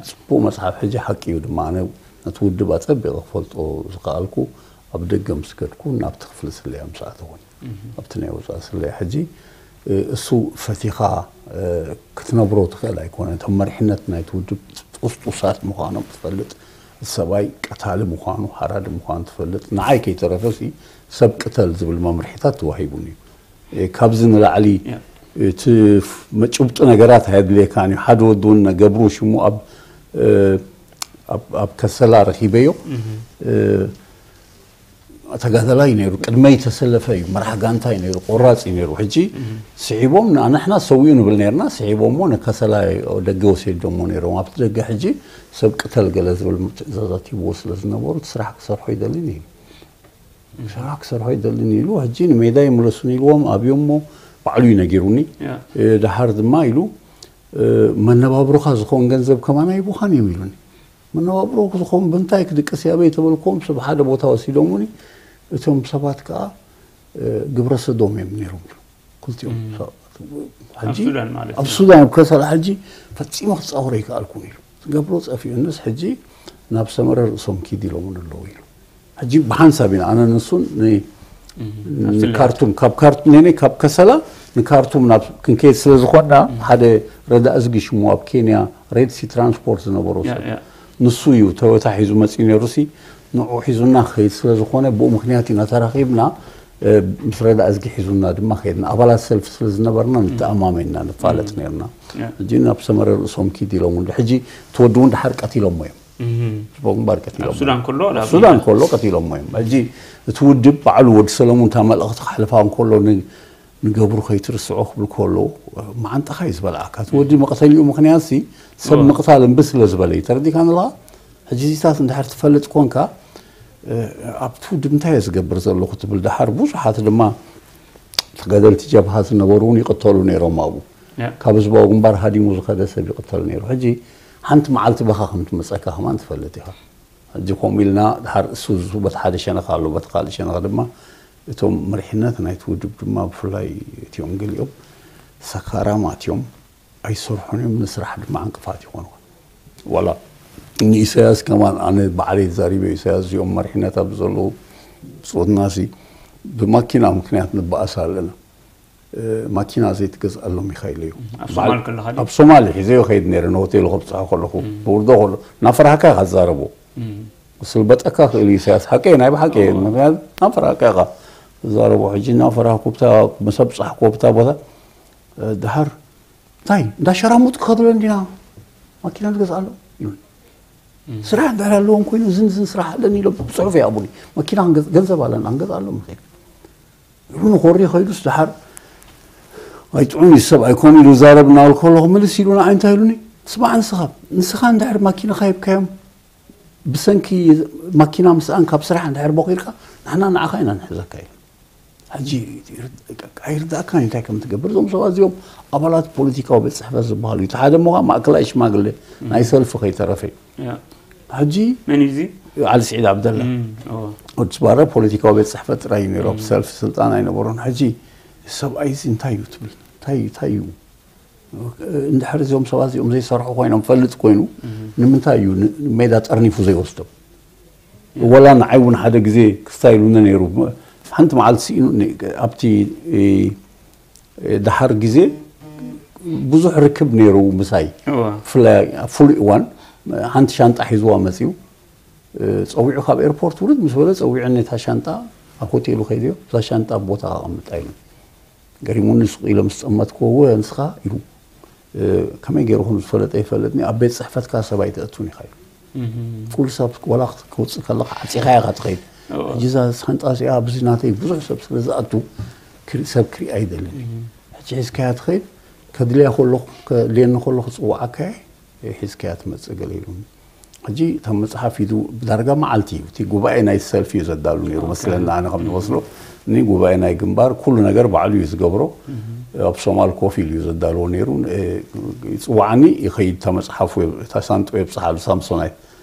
ጽቡቕ መጽሓፍ፣ ሕጂ ሓቂ እዩ ድማ። ኣነ ነቲ ውድብ ኣጸቢቐ ክፈልጦ ዝኸኣልኩ ኣብ ደገ ምስ ከድኩ፣ ናብቲ ክፍሊ ስለያ ምስ ኣተኹ። ኣብቲ ናይ ወጻኢ ስለያ ሕጂ፣ እ፣ እሱ ፈቲኻ፣ እ፣ ክትነብሮ ትኽእል ኣይኮነን። እቶም መሪሕነት ናይቲ ውድብ ጥስጡሳት ምዃኖም ትፈልጥ፣ እቲ ሰብኣይ ቀታሊ ምዃኑ፣ ሓራዲ ምዃኑ ትፈልጥ። ንዓይ ከይተረፈሲ ሰብ ቅተል ዝብል መምርሒታት ተዋሂቡኒ እዩ። እ፣ ካብዚ ንላዕሊ እቲ ፍ-፣ መ-፣ ጭብጢ ነገራት ኣየድልየካን እዩ። ሓደ ወዲ እውን ገብሩ ሽሙ ኣብ፣ እ፣ ኣብ፣ ኣብ ከሰላ ረኺበዮ። እ፣ ተጋዳላይ ነይሩ፣ ቅድመይ ተሰለፈ እዩ፣ መራሕ ጋንታ እዩ ነይሩ፣ ቆራጽ እዩ ነይሩ። ሕጂ ስሒቦም፣ ን-፣ ንሕና ሰዊኡ ንብል ነርና፣ ስሒቦሞ ንከሰላ ደገ ወሲዶሞ ነይሮም። ኣብቲ ደገ ሕጂ ሰብ ቅተል ገለ ዝብል ትእዛዛት ሂብዎ ስለ ዝነበሩ፣ እቲ ስራሕ ክሰርሖ ይደልን እዩ። ስራሕ ክሰርሖ ይደልን ኢሉ፣ ሕጂ ንሜዳ ይምለሱን ኢልዎም ኣብዮሞ፣ ባዕሉ እዩ ነጊሩኒ። ያ። እ፣ ደሓር ድማ ኢሉ፣ እ፣ መነባብሮኻ ዝኾን ገንዘብ ከማን ኣይቡኻን እዮም ኢሉኒ። መነባብሮ ዝኾን ብምንታይ ክድቅስ እየ ኣበይ ተበልክዎም፣ ሰብ ሓደ ቦታ ወሲዶሙኒ። እቶም ሰባት ከኣ፣ እ፣ ግብረ ሰዶም እዮም ነይሮም ኢሉ። ክልቲኦም እም። ሰባት። ኣብ ሕጂ ሱዳን ማለት ኣብ እዩ። ሱዳን፣ ኣብ ከሰላ ሕጂ ፈጺመ ክጻወሮ ኣይከኣልኩን ኢሉ። ዝገብሮ ጸፊኡንስ፣ ሕጂ ናብ ሰመረ ርእሶም ኪድ ኢሎምን ኣለዉ ኢሉ። ሕጂ ብሓንሳብ ኢና፣ ኣነ ንሱን ን-፣ እም። ኣብ ስለያ። ንካርቱም፣ ካብ ካርቱም፣ ነይ፣ ነይ፣ ካብ ከሰላ ንካርቱም ናብ ክንከይድ ስለ ዝኾንና፣ እም። ሓደ ረዳእ እዝጊ ሽሙ ኣብ ኬንያ ሬድ ሲ ትራንስፖርት ዝነበሮ ያ፣ ሰብ፣ ያ። ንሱ እዩ ቶዮታ ሒዙ መጺኡ ነይሩሲ፣ ንዑ ሒዙና ክኸይድ ስለ ዝኾነ፣ ብኡ ምኽንያት ኢና ተራኺብና። እ፣ ምስ ረዳእ እዝጊ ሒዙና ድማ ከይድና። ኣባላት ሰልፊ ስለ ዝነበርና፣ ንተኣማመንና ንፋለጥ እም። ነርና። ያ። ሕጂ ናብ ሰመረ ርእሶም ኪድ ኢሎም፣ ሕጂ እቲ ወዲ እውን ደሓር ቀቲሎሞ እዮም። እም። ጽቡቕ ግንባር ኣብ ቀቲሎሞ ሱዳን እዮም። ከሎ ኣብ ናብ ሱዳን ከሎ ቀቲሎሞ እዮም። ሕጂ እቲ ውድብ ባዕሉ ወዲ ሰለሙን እታ መልእኽቲ ከሕልፋ እንከሎ ን-፣ ንገብሩ ከይትርስዖ ክብል ከሎ፣ መዓንጣኻ እዩ ዝበልዓካ። እቲ ወዲ መቕተሊኡ ምኽንያት ሲ ሰብ እወ። ምቕታል እምቢ ስለ ዝበለ እዩ። ተረዲእካኒ ኣለኻ? ሕጂ እዚታት እንድሕር ትፈልጥ ኮንካ፣ እ፣ ኣብቲ ውድብ እንታይ እየ ዝገብር ዘለኹ ትብል። ደሓር ብዙሓት ድማ ተጋደልቲ ጀብሃ ዝነበሩ እውን ይቕተሉ ነይሮም ኣብኡ። ያ። ካብ ህዝባዊ ግንባር ሃዲሙ ዝኸደ ሰብ ይቕተል ነይሩ። ሕጂ ሓንቲ መዓልቲ በኻ ከም ትመጸካ ከማን ትፈልጥ ኢኻ። ሕጂ ከምኡ ኢልና፣ ድሓር እሱ፣ እሱ በቲ ሓደ ሸነኽ ኣሎ፣ በቲ ካልእ ሸነኽ ድማ እቶም መሪሕነት ናይቲ ውድብ ድማ፣ ብፍላይ እቲኦም ገሊኦም ሰካራማት እዮም፣ ኣይሰርሑን እዮም፣ ንስራሕ ድማ ዕንቅፋት ይኾኑ። ዋላ ንኢሳያስ ከማን ኣነ ባዕለይ ተዛሪበ፣ ኢሳያስ፣ እዚኦም መሪሕነት ኣብዚ ዘለዉ ብጾትናሲ ብማኪና ምኽንያት ንበኣስ ኣለና። እ፣ ማኪና ዘይትገዝኣሎም ኢኻ ኢለዮ። ኣብ በዓል-፣ ሶማል ከለኻ ድዩ? ኣብ ሶማል ሒዘዮ ከይድ ነይረ፣ ንሆቴሉ ከብጽሖ ከለኹ፣ እም። ብውርዶ ከሎ፣ እናፈራህካ ኢኻ ትዛረቦ። እም። ክስልበጠካ ክእል እዩ ኢሳያስ። ሓቀይ፣ ናይ ብሓቂ፣ እዎ። ምኽንያቱ እናፈራህካ ኢኻ ትዛረቦ። ሕጂ እናፈራህኩ ብታ፣ ምስ ኣብጻሕኩዎ ብታ ቦታ፣ እ፣ ድሓር፣ እንታይ፣ እንዳሸራሙጥካ ከትብለኒ ዲና ማኪና ንገዝኣሎም? ይብል። እም። ስራሕ እንድሕር ኣለዎም ኮይኑ፣ ዝን ዝን ስራሕ ኣለኒ ኢሎም ብጽሑፍ ይሃቡኒ። ማኪና ክንገዝ-፣ ገንዘብ ኣለና፣ ክንገዝኣሎም ንኽእል። ንኾሪ ኸይዱስ ደሓር ኣይጥዑም እዩ ሰብ ኣይኮኑ ኢሉ ዛረብ እናበልኩ ከለኹ ምልስ ኢሉ ንዓይ እንታይ ኢሉኒ? ስማዕ ንስኻ፣ ንስኻ እንድሕር ማኪና ሂብካዮም ብሰንኪ ማኪና ምስኣን ካብ ስራሕ እንድሕር ቦኺርካ ንሕና ንዓኻ ኢና ንሕዘካ ኢሉ። ሕጂ ኣይርዳእካን እንታይ ከም ትገብር። እዞም ሰባት እዚኦም ኣባላት ፖለቲካዊ ቤት ጽሕፈት ዝበሃሉ እዩ። እቲ ሓደ እሞ ከዓ ማእከላይ ሽማግሌ ናይ ሰልፊ ከይተረፈ እዩ። ሕጂ መን እዩ እዚ? ዓሊ ስዒድ ዓብደላ እም፣ እዎ። ወዲ ስባረ ፖለቲካዊ ቤት ጽሕፈት ጥራይ እዩ ነይሩ። ኣብ ሰልፊ ስልጣን ኣይነበሮን። ሕጂ ሰብኣይ እዚ እንታይ እዩ ትብል? እንታይ እንታይ እዩ? እንድሕር እዚኦም ሰባት እዚኦም ዘይሰርሑ ኮይኖም ፈልጥ ኮይኑ ንምንታይ እዩ ን- ሜዳ ጠርኒፉ ዘይወስዶም? ወላ ንዓይ እውን ሓደ ግዜ ክስታይ ኢሉኒ ነይሩ። ሓንቲ መዓልቲ ስኢኑ ኒ- ኣብቲ እ፣ ደሓር ግዜ ብዙሕ ርክብ ነይሩ ምሳይ። እዎ። ብፍላይ ኣብ ፍሉይ እዋን ሓንቲ ሻንጣ ሒዝዋ መፅዩ። እ፣ ፀዊዑ ካብ ኤርፖርት ውርድ ምስ በለ ፀዊዑኒ እታ ሻንጣ ኣብ ሆቴሉ ከይደዮ እዛ ሻንጣ ኣብ ቦታ ኣቐምጣ ኢሉ። ገሪሙኒ ስቕ ኢለ ምስ ጠመትክዎ እወ ንስኻ ኢሉ። እ፣ ከመይ ገይሩ ከም ዝፈለጠ ይፈልጥኒ ኣብ ቤት ፅሕፈትካ ሰብ ኣይተእቱን ኢኻ ኢሉ። ኩሉ ሰብ ዋላ ክውፅእ ከለካ ዓፂኻ ኢኻ ትኸይድ። ሕጂ እዛ ሳንጣ እዚኣ ኣብዚ ናተይ ብዙሕ ሰብ ስለ ዝኣቱ ክርኢ- ሰብ ክርኢ ኣይደልን። ሕጂ ሒዝካያ ትኸይድ ከድልያ ከሎ ከድልየኒ ከሎ ክፅዋዓካ እየ ሒዝካያ ትመፅእ ገለ ኢሉኒ። ሕጂ እታ መፅሓፍ ኢዱ ብዳርጋ መዓልቲ እዩ እቲ ጉባኤ ናይ ሰልፊ እዩ ዘዳሉ ነይሩ መስለና ኣነ ከም ዝመስሎ። እኒ ጉባኤ ናይ ግንባር ኩሉ ነገር ባዕሉ እዩ ዝገብሮ። ኣብ ሶማል ኮፍ ኢሉ እዩ ዘዳልዎ ነይሩ። ይፅዋዓኒ ይኸይድ እታ መፅሓፍ ወይ እታ ሳንጦ የብፅሓሉ ሳምሶናይ።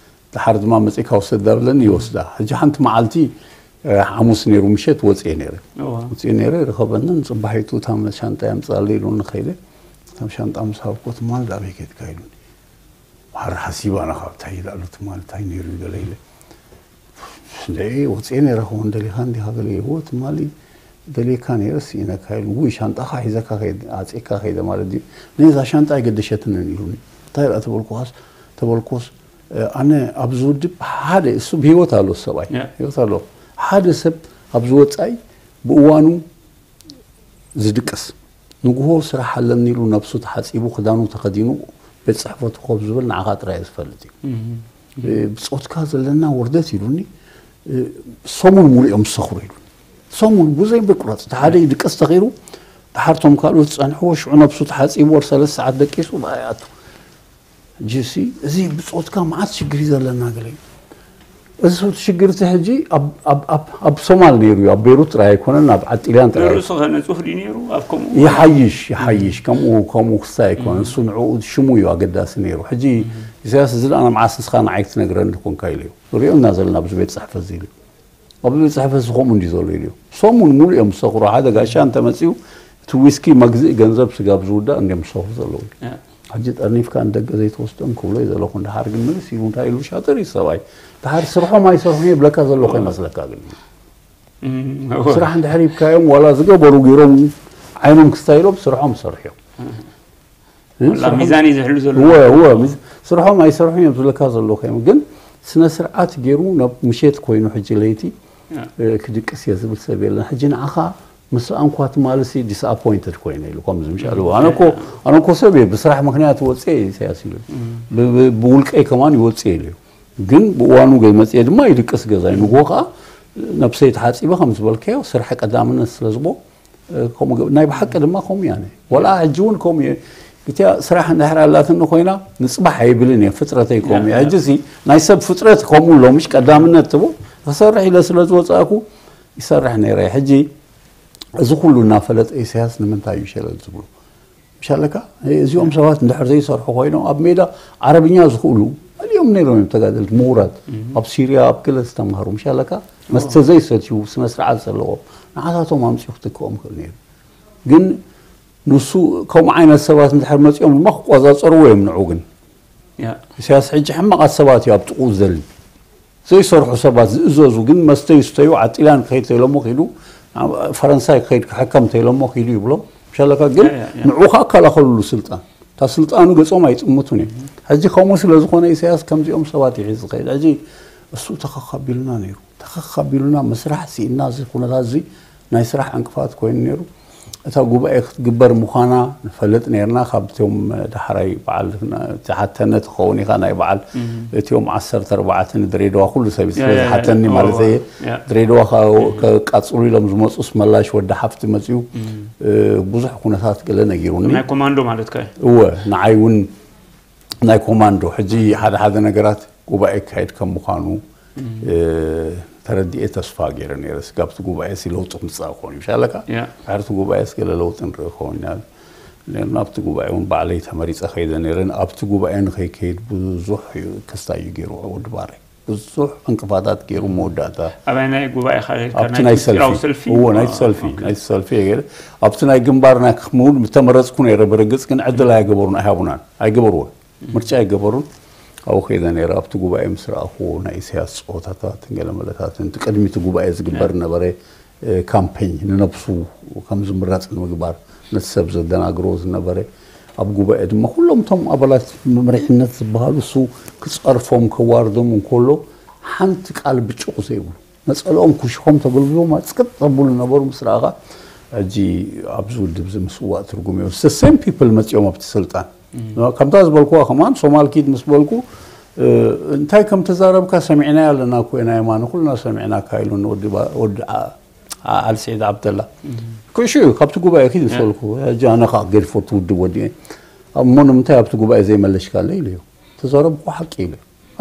ድሓር ድማ መፂእካ ውሰድ ዳብለኒ ይወስዳ። ሕጂ ሓንቲ መዓልቲ ሓሙስ ነይሩ ምሸት ወፅኤ ነይረ። ወፅኤ ነይረ ርኸበንን ፅባሒቱ እታ ሻንጣ ያምፃለ ኢሉኒ ከይደ። እታ ሻንጣ ምስ ሃብኮ ትማል ዳበይ ከድካ ኢሉኒ። ማር ሓሲባ ኣነ ካብ እንታይ ይላሉ ትማል እንታይ ነይሩ ገለ ኢለ። እንደ ወፅኤ ነይረ ክኸውን ደሊኻ እንዲኻ ገለ ይዎ ትማሊ ደልየካ ነይረ ስኢነካ ኢሉ ውይ ሻንጣኻ ሒዘካ ከይድ ኣፅእካ ከይደ ማለት ድዩ? ነዛ ሻንጣ ኣይገደሸትንን ኢሉኒ። እንታይ ደኣ ተበልኩኻስ ተበልኩስ ኣነ ኣብዚ ውድብ ሓደ እሱ ብህይወት ኣሎ ሰብኣይ ህይወት ኣሎ ሓደ ሰብ ኣብዚ ወፃኢ ብእዋኑ ዝድቅስ ንግሆ ስራሕ ኣለኒ ኢሉ ነብሱ ተሓፂቡ ክዳኑ ተኸዲኑ ቤት ፅሕፈቱ ኮፍ ዝብል ንዓኻ ጥራይ ዝፈልጥ እዩ። ብፆትካ ዘለና ውርደት ኢሉኒ። ሰሙን ሙሉእ እዮም ዝሰኽሩ ኢሉኒ። ሰሙን ብዘይ ምቁራፅ እቲ ሓደ ይድቅስ ተኺሩ ድሓር ቶም ካልኦት ዝፀንሕዎ ሽዑ ነብሱ ተሓፂቡ ወር ሰለስተ ሰዓት ደቂሱ ብኣ ይኣቱ። ሕጂ ሲ እዚ ብፆትካ መዓት ሽግር እዩ ዘለና ገለ እዩ። እዚ ሽግር እቲ ሕጂ ኣብ- ኣብ- ኣብ- ኣብ ሶማል ነይሩ እዩ ኣብ ቤሩት ጥራይ ኣይኮነን ኣብ ዓጢልያን ጥራይ ንርእሱ ኸ ንጹህ ድዩ ነይሩ ኣብ ከምኡ? ይሓይሽ ይሓይሽ ከምኡ ከምኡ ክስታይ ኣይኮነን እሱ ንዕኡ ሽሙ እዩ ኣገዳሲ ነይሩ። ሕጂ ኢሳያስ እዚ ደኣ መዓስ ንስኻ ንዓይ ክትነግረኒ ኮንካ ኢሉ እዩ ንሪኦ እና ዘለና ኣብዚ ቤት ፅሕፈት እዚ ኢሉ ኣብዚ ቤት ፅሕፈት እዚ ከምኡ እንዲ ዘሎ ኢሉ እዩ። ሰሙን ሙሉእ እዮም ዝሰኽሩ ሓደ ጋሻ እንተመፅኡ እቲ ዊስኪ መግዝኢ ገንዘብ ስጋብ ዝውዳእ እንዲዮም ዝሰኽሩ ዘለዉ። ሕጂ ጠርኒፍካ ንደገ ዘይትወስዶም ክብሎ እዩ ዘለኹ። እንድሓር ግን ምልስ ኢሉ እንታይ ኢሉ ሻጥር እዩ ሰብኣይ። ድሓር ስርሖም ኣይሰርሑን እየ ብለካ ዘለኹ ይመስለካ ግን። ስራሕ እንድሕር ሂብካዮም ዋላ ዝገበሩ ገይሮም ዓይኖም ክስታይሎም ስርሖም ይሰርሑ እዮም። ሚዛን እዩ ዝሕሉ ዘሎ። ስርሖም ኣይሰርሑን እዮም ዝብለካ ዘለኹ እዮም ግን ስነ ስርዓት ገይሩ ናብ ምሸት ኮይኑ ሕጂ ለይቲ ክድቅስ እየ ዝብል ሰብ የለን። ሕጂ ንዓኻ ምስ ኣንኳ ትማልሲ disappointed ኮይነ ኢሉ ከምዚ ምሻሉ ኣነ እኮ ኣነ እኮ ሰብ እየ ብስራሕ ምክንያት ወፅየ ኢሳያስ ኢሉ ብውልቀይ ከማን ይወፅየ ኢሉ እዩ። ግን ብእዋኑ መፅየ ድማ ይድቅስ ገዛይ ንጎ ከዓ ነብሰይ ተሓፂበ ከም ዝበልካዮ ስራሕ ቀዳምነት ስለ ዝቦ ከምኡ ገብ- ናይ ብሓቂ ድማ ከምኡ እያ ነይ ወላ ሕጂ እውን ከምኡ እየ። እቲያ ስራሕ እንድሕር ኣላትኒ ኮይና ንፅባሕ ኣይብልን እየ ፍጥረተይ ከምኡ እየ። ሕጂ ሲ ናይ ሰብ ፍጥረት ከምኡ ኣሎ ምሽ ቀዳምነት ትቦ ክሰርሕ ኢለ ስለ ዝወፃእኩ ይሰርሕ ነይረ። ሕጂ እዚ ኩሉ እናፈለጠ ኢሳያስ ንምንታይ እዩ ሸለል ዝብሉ? ምሻለካ እዚኦም ሰባት እንድሕር ዘይሰርሑ ኮይኖም ኣብ ሜዳ ዓረብኛ ዝኽእሉ መሊኦም ነይሮም እዮም ተጋደልቲ ምሁራት ኣብ ሲርያ ኣብ ክለ ዝተምሃሩ ምሻለካ መስተ ዘይሰትዩ ስነ ስርዓት ዘለዎም ንዓታቶም ኣምፅኡ ክትክኦም ይኽእል ነይሩ። ግን ንሱ ከምኡ ዓይነት ሰባት እንድሕር መፂኦም ድማ ክቆፃፀርዎ እዮም ንዑ ግን ኢሳያስ ሕጂ ሕማቓት ሰባት እዩ ኣብ ጥቕኡ ዝደሊ ዘይሰርሑ ሰባት ዝእዘዙ ግን መስተ ይስተዩ ዓጢላን ክኸይድ ተይሎሞ ኪዱ ፈረንሳይ ክኸይድ ክሕከም ተይሎሞ ኪዱ ይብሎም ምሻለካ ግን ንዑ ከዓ ከላኸልሉ ስልጣን እታ ስልጣኑ ገጾም ኣይጥምቱን እዮም። ሕጂ ከምኡ ስለ ዝኾነ ኢሳያስ ከምዚኦም ሰባት ይሒዝ ዝኸይድ ሕጂ እሱ ተኸኻቢሉና ነይሩ ተኸኻቢሉና መስራሕ ስኢና እዚ ኩነታት እዚ ናይ ስራሕ ዕንቅፋት ኮይኑ ነይሩ። እታ ጉባኤ ክትግበር ምዃና ንፈልጥ ነይርና ካብ እቲኦም ዳሕራይ በዓል ዝሓተነ ትኸውን ኢኻ ናይ በዓል እቲኦም ዓሰርተ ኣርባዕተ ንድሬዳዋ ኩሉ ሰብ ስለ ዝሓተኒ ማለት እየ ድሬዳዋ ከቃፅሉ ኢሎም ዝመፁስ መላሽ ወዲ ሓፍቲ መፅኡ ብዙሕ ኩነታት ገለ ነጊሩኒ ናይ ኮማንዶ ማለት ከ እወ ንዓይ እውን ናይ ኮማንዶ ሕጂ ሓደ ሓደ ነገራት ጉባኤ ክካየድ ከም ምዃኑ ተረዲኤ ተስፋ ገይረ ነይረ። ስጋብቲ ጉባኤ ሲ ለውጢ ክምፃእ ክኾን ይሻለካ። ድሕርቲ ጉባኤ ስገለ ለውጢ ንርኢ ክኸውን ኢና። ናብቲ ጉባኤ እውን ባዕለይ ተመሪፀ ከይደ ነይረ። ኣብቲ ጉባኤ ንኸይከይድ ብዙሕ ክስታይ እዩ ገይሩ ወዲ ባረ። ብዙሕ ዕንቅፋታት ገይሩ መወዳእታ ኣበይ ናይ ጉባኤ ኣብቲ ናይ ሰልፊ እዎ ናይቲ ሰልፊ ናይቲ ሰልፊ ገይረ። ኣብቲ ናይ ግንባርና ክምውን ምተመረፅኩ ነይረ። ብርግፅ ግን ዕድል ኣይገበሩን ኣይሃቡናን ኣይገበርዎን ምርጫ ኣይገበሩን። ኣብኡ ከይደ ነይረ። ኣብቲ ጉባኤ ምስ ረኣኽዎ ናይ ኢሳያስ ፀወታታትን ገለመለታትን እቲ ቅድሚቲ ጉባኤ ዝግበር ነበረ ካምፔኝ ንነብሱ ከም ዝምረፅ ንምግባር ነቲ ሰብ ዘደናግሮ ዝነበረ ኣብ ጉባኤ ድማ ኩሎም እቶም ኣባላት መምርሕነት ዝበሃሉ እሱ ክፀርፎም ከዋርዶም እንከሎ ሓንቲ ቃል ብጭቑ ዘይብሉ ነፀልኦም ኩሽኾም ተገልብቦም ኣፅቅጥ ዘብሉ ነበሩ። ምስ ረኣኻ ሕጂ ኣብዚ ውድብ እዚ ምስዋእ ትርጉም እዮ። The same people መፂኦም ኣብቲ ስልጣን ከምታ ዝበልኩዋ ከማን ሶማል ኪድ ምስ በልኩ እንታይ ከም ተዛረብካ ሰሚዕናዮ ኣለና እኮ ኢና የማነ ኩልና ሰሚዕናካ ኢሉኒ ወዲ ዓሊ ስዒድ ዓብደላ። ኩዕሹ እዩ ካብቲ ጉባኤ ኪድ ምስ በልኩ ሕጂ ኣነ ከዓ ገድፎ እቲ ውድብ ወዲኤ እሞ ንምንታይ ኣብቲ ጉባኤ ዘይመለሽካለይ ኢሉ እዩ ተዛረብኩ ሓቂ ኢሉ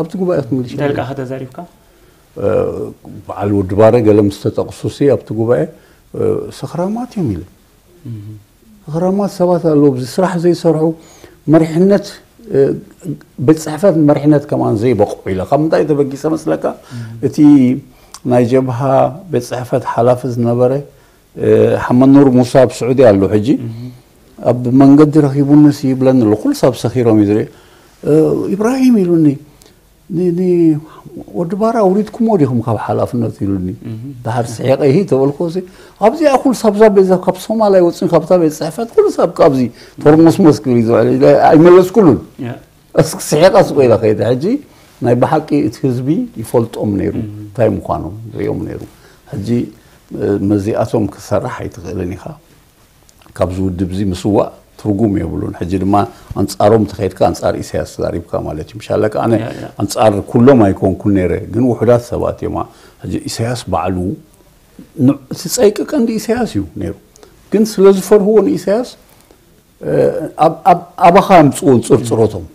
ኣብቲ ጉባኤ ክትምልሽ እንታይ ኢልካ ተዛሪብካ በዓል ወዲ ባረ ገለ ምስ ተጠቕሱ ሲ ኣብቲ ጉባኤ ሰኽራማት እዮም ኢለ ሰኽራማት ሰባት ኣለዉ ኣብዚ ስራሕ ዘይሰርሑ መሪሕነት ቤት ፅሕፈት መሪሕነት ከማን ዘይበቕዑ ኢለ ካብ ምንታይ ተበጊሰ መስለካ እቲ ናይ ጀብሃ ቤት ፅሕፈት ሓላፊ ዝነበረ ሓመድ ኑር ሙሳ ኣብ ስዑዲ ኣሎ ሕጂ ኣብ መንገዲ ረኺቡንስ ይብለኒ ኣሎ ኩሉ ሰብ ሰኺሮም እዩ ዝርኢ ኢብራሂም ኢሉኒ ወዲ ባራ ኣውሪድኩሞ ዲኹም ካብ ሓላፍነት ኢሉኒ ድሓር ስሒቀ ይሂ ተበልኮ ኣብዚኣ ኩሉ ሳብዛ ቤዛ ካብ ሶማል ኣይወፅን ካብታ ቤት ፅሕፈት ኩሉ ሰብ ካብዚ ተርሞስሞስ ክብል እዩ ዝውዕል ኣይመለስኩሉን እስኪ ስሒቐ ስቆ ኢለ ከይደ ሕጂ ናይ ብሓቂ እቲ ህዝቢ ይፈልጦም ነይሩ እንታይ ምዃኖም ርእዮም ነይሩ ሕጂ መዚኣቶም ክሰርሕ ኣይትኽእልን ኢኻ ካብዚ ውድብ እዚ ምስዋእ ትርጉም የብሉን ሕጂ ድማ ኣንፃሮም ተኸይድካ ኣንፃር ኢሳያስ ተዛሪብካ ማለት እዩ ምሻለካ ኣነ ኣንፃር ኩሎም ኣይኮንኩን ነይረ ግን ውሑዳት ሰባት እዮም ሕጂ ኢሳያስ ባዕሉ እቲ ፀይቂ ቀንዲ ኢሳያስ እዩ ነይሩ ግን ስለ ዝፈርህዎ ንኢሳያስ ኣባኻ ምፅኡ ፅርፅሮቶም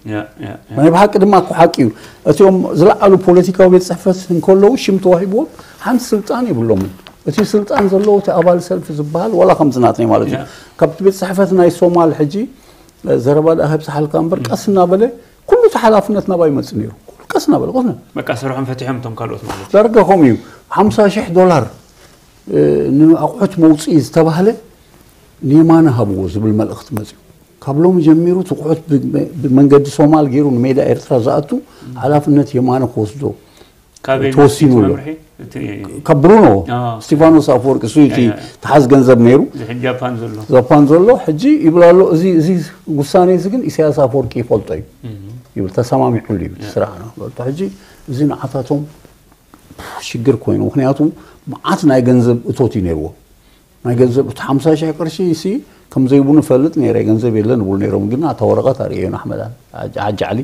ናይ ብሓቂ ድማ እኮ ሓቂ እዩ እቲኦም ዝለዓሉ ፖለቲካዊ ቤት ፅሕፈት እንከለዉ ሽም ተዋሂብዎም ሓንቲ ስልጣን የብሎምን እቲ ስልጣን ዘለዎ እቲ ኣባል ሰልፊ ዝበሃል ዋላ ከምዚ ናትናይ ማለት እዩ ካብቲ ቤት ፅሕፈት ናይ ሶማል ሕጂ ዘረባ ደኣ ከብፅሓልካ እምበር ቀስ እናበለ ኩሉ እቲ ሓላፍነት ናባይ ይመፅእ ነይሩ ቀስ እናበለ ቀስ በቃ ስርሖም ፈቲሖም እቶም ካልኦት ማለት ዳርጋ ከምኡ እዩ ሓምሳ ሽሕ ዶላር ንኣቑሑት መውፅኢ ዝተባህለ ንየማነ ሃብዎ ዝብል መልእኽቲ መፅኡ ካብ ሎሚ ጀሚሩ ትቑሑት ብመንገዲ ሶማል ገይሩ ንሜዳ ኤርትራ ዝኣቱ ሓላፍነት የማነ ክወስዶ ተወሲኑ ኣሎ ካብ ብሩኖ ስቲፋኖስ ኣፈወርቂ እሱ እቲ ተሓዝ ገንዘብ ነይሩ ጃፓን ዘሎ ሕጂ ይብል ኣሎ እዚ ውሳነ እዚ ግን ኢሳያስ ኣፈወርቂ ይፈልጦ እዩ ይብል ተሰማሚዑሉ እዩ ስራሕ ሕጂ እዚ ንዓታቶም ሽግር ኮይኑ ምክንያቱ መዓት ናይ ገንዘብ እቶት እዩ ነይርዎ ናይ ገንዘብ እቲ ሓምሳ ሽሕ ቅርሺ ሲ ከም ዘይብሉ ፈልጥ ነይረ ገንዘብ የለን ይብሉ ነይሮም ግን ኣታ ወረቐት ኣርእየና ኣሕመድ ሓጂ ዓሊ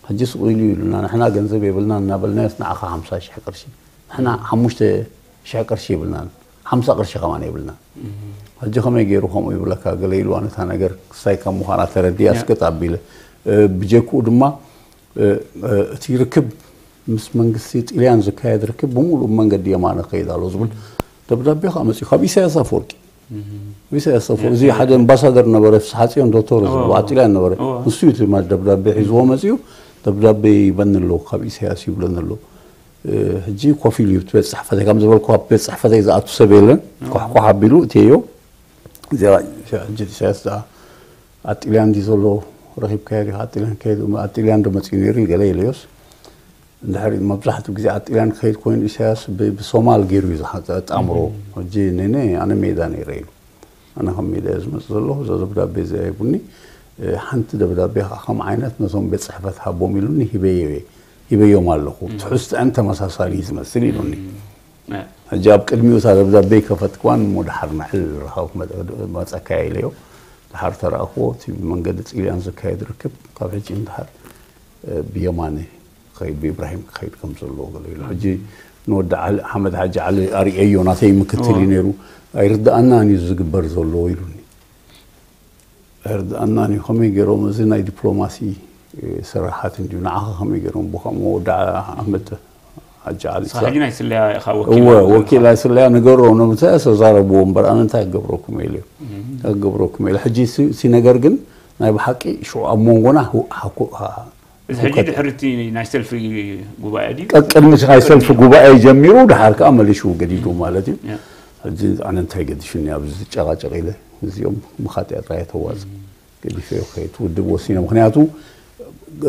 ሕጂ ስቕ ኢሉ ይብሉና ንሕና ገንዘብ የብልና እናበልናዮስ ንዓኻ ሓምሳ ሽሕ ቅርሺ ንሕና ሓሙሽተ ሽሕ ቅርሺ ይብልና ሓምሳ ቅርሺ ከማን የብልና ሕጂ ከመይ ገይሩ ከምኡ ይብለካ ገለ ኢሉ ኣነታ ነገር ክስታይ ከም ምዃና ተረድያ እስክጥ ኣቢለ ብጀክኡ ድማ እቲ ርክብ ምስ መንግስቲ ጥልያን ዝካየድ ርክብ ብምሉእ መንገዲ የማነ ክኸይድ ኣሎ ዝብል ደብዳቤ ከዓ መፅኡ ካብ ኢሳያስ ኣፈወርቂ ኢሳያስ ኣፈወርቂ እዚ ሓደ ኣምባሳደር ነበረ ፍስሓፅዮን ዶክተር ዝብሉ ኣብ ጥልያን ነበረ ንሱ እዩ እቲ ደብዳቤ ሒዝዎ መፅኡ ደብዳቤ ይበኒ ኣሎ ካብ ኢሳያስ ይብለኒ ኣሎ ሕጂ ኮፍ ኢሉ እዩ ቤት ፅሕፈተይ ከም ዝበልኩ ኣብ ቤት ፅሕፈተይ ዝኣቱ ሰብ የለን ኳሕኳሕ ኣቢሉ እትዮ እዚኣ ሕጂ ኢሳያስ ዝኣ ኣጥልያን ድዩ ዘሎ ረኺብካዮ ዲኻ ኣጥልያን ከይዱ ኣጥልያን ዶ መፅኡ ነይሩ ገለ ኢለዮስ እንድሕር መብዛሕትኡ ግዜ ኣጥልያን ክኸይድ ኮይኑ ኢሳያስ ብሶማል ገይሩ እዩ ዝሓፀ ጣምሮ ሕጂ ነነ ኣነ ሜዳ ነይረ ኢሉ ኣነ ከም ሜዳ እየ ዝመፅእ ዘለኹ እዛ ደብዳቤ እዚኣ ሂቡኒ ሓንቲ ደብዳቤ ከዓ ከም ዓይነት ነቶም ቤት ፅሕፈት ሃቦም ኢሉኒ ሂበዮ እየ ሂበዮም ኣለኹ ትሕዝትአን ተመሳሳሊ እዩ ዝመስል ኢሉኒ ሕጂ ኣብ ቅድሚኡ እታ ደብዳቤ ከፈትክዋን እሞ ድሓር ንዕል ረኻብ መፀካያ ኢለዮ ድሓር ተረኣኽዎ እቲ ብመንገዲ ጥልያን ዝካየድ ርክብ ካብ ሕጂ ንድሓር ብየማነ ክኸይድ ብኢብራሂም ክኸይድ ከም ዘለዎ ገለ ኢሉ ሕጂ ንወዲ ዓሊ ሓመድ ሓጂ ዓሊ ኣርእየዮ ናተይ ምክትል እዩ ነይሩ ኣይርድኣናን እዩ ዝግበር ዘሎ ኢሉኒ ኣይርድኣናን እዩ ከመይ ገይሮም እዚ ናይ ዲፕሎማሲ ስራሓት እንድዩ ንዓኻ ከመይ ገይሮም ብከምኡ ወዲ ኣሕመድ ኣጃዓል ንስኻ ሕጂ ናይ ስለያ ኢኻ እወ ወኪል ወኪል ናይ ስለያ ንገሮ ነብታ ተዛረብዎ እምበር ኣነ እንታይ ክገብረኩም ኢለ እንታይ ክገብረኩም ኢለ ሕጂ እቲ ነገር ግን ናይ ብሓቂ ሽዑ ኣብ መንጎና እዚ ሕጂ ድሕሪ እቲ ናይ ሰልፊ ጉባኤ ድዩ ቅድሚ ናይ ሰልፊ ጉባኤ ጀሚሩ ድሓር ከዓ መሊሹ ገዲዱ ማለት እዩ ሕጂ ኣነ እንታይ ገዲሹኒ ኣብዚ ዝጨቃጨቅ ኢለ እዚኦም ምኻጥያ ጥራይ ተዋፅ ገዲፈዮ ከይት ውድብ ወሲነ ምክንያቱ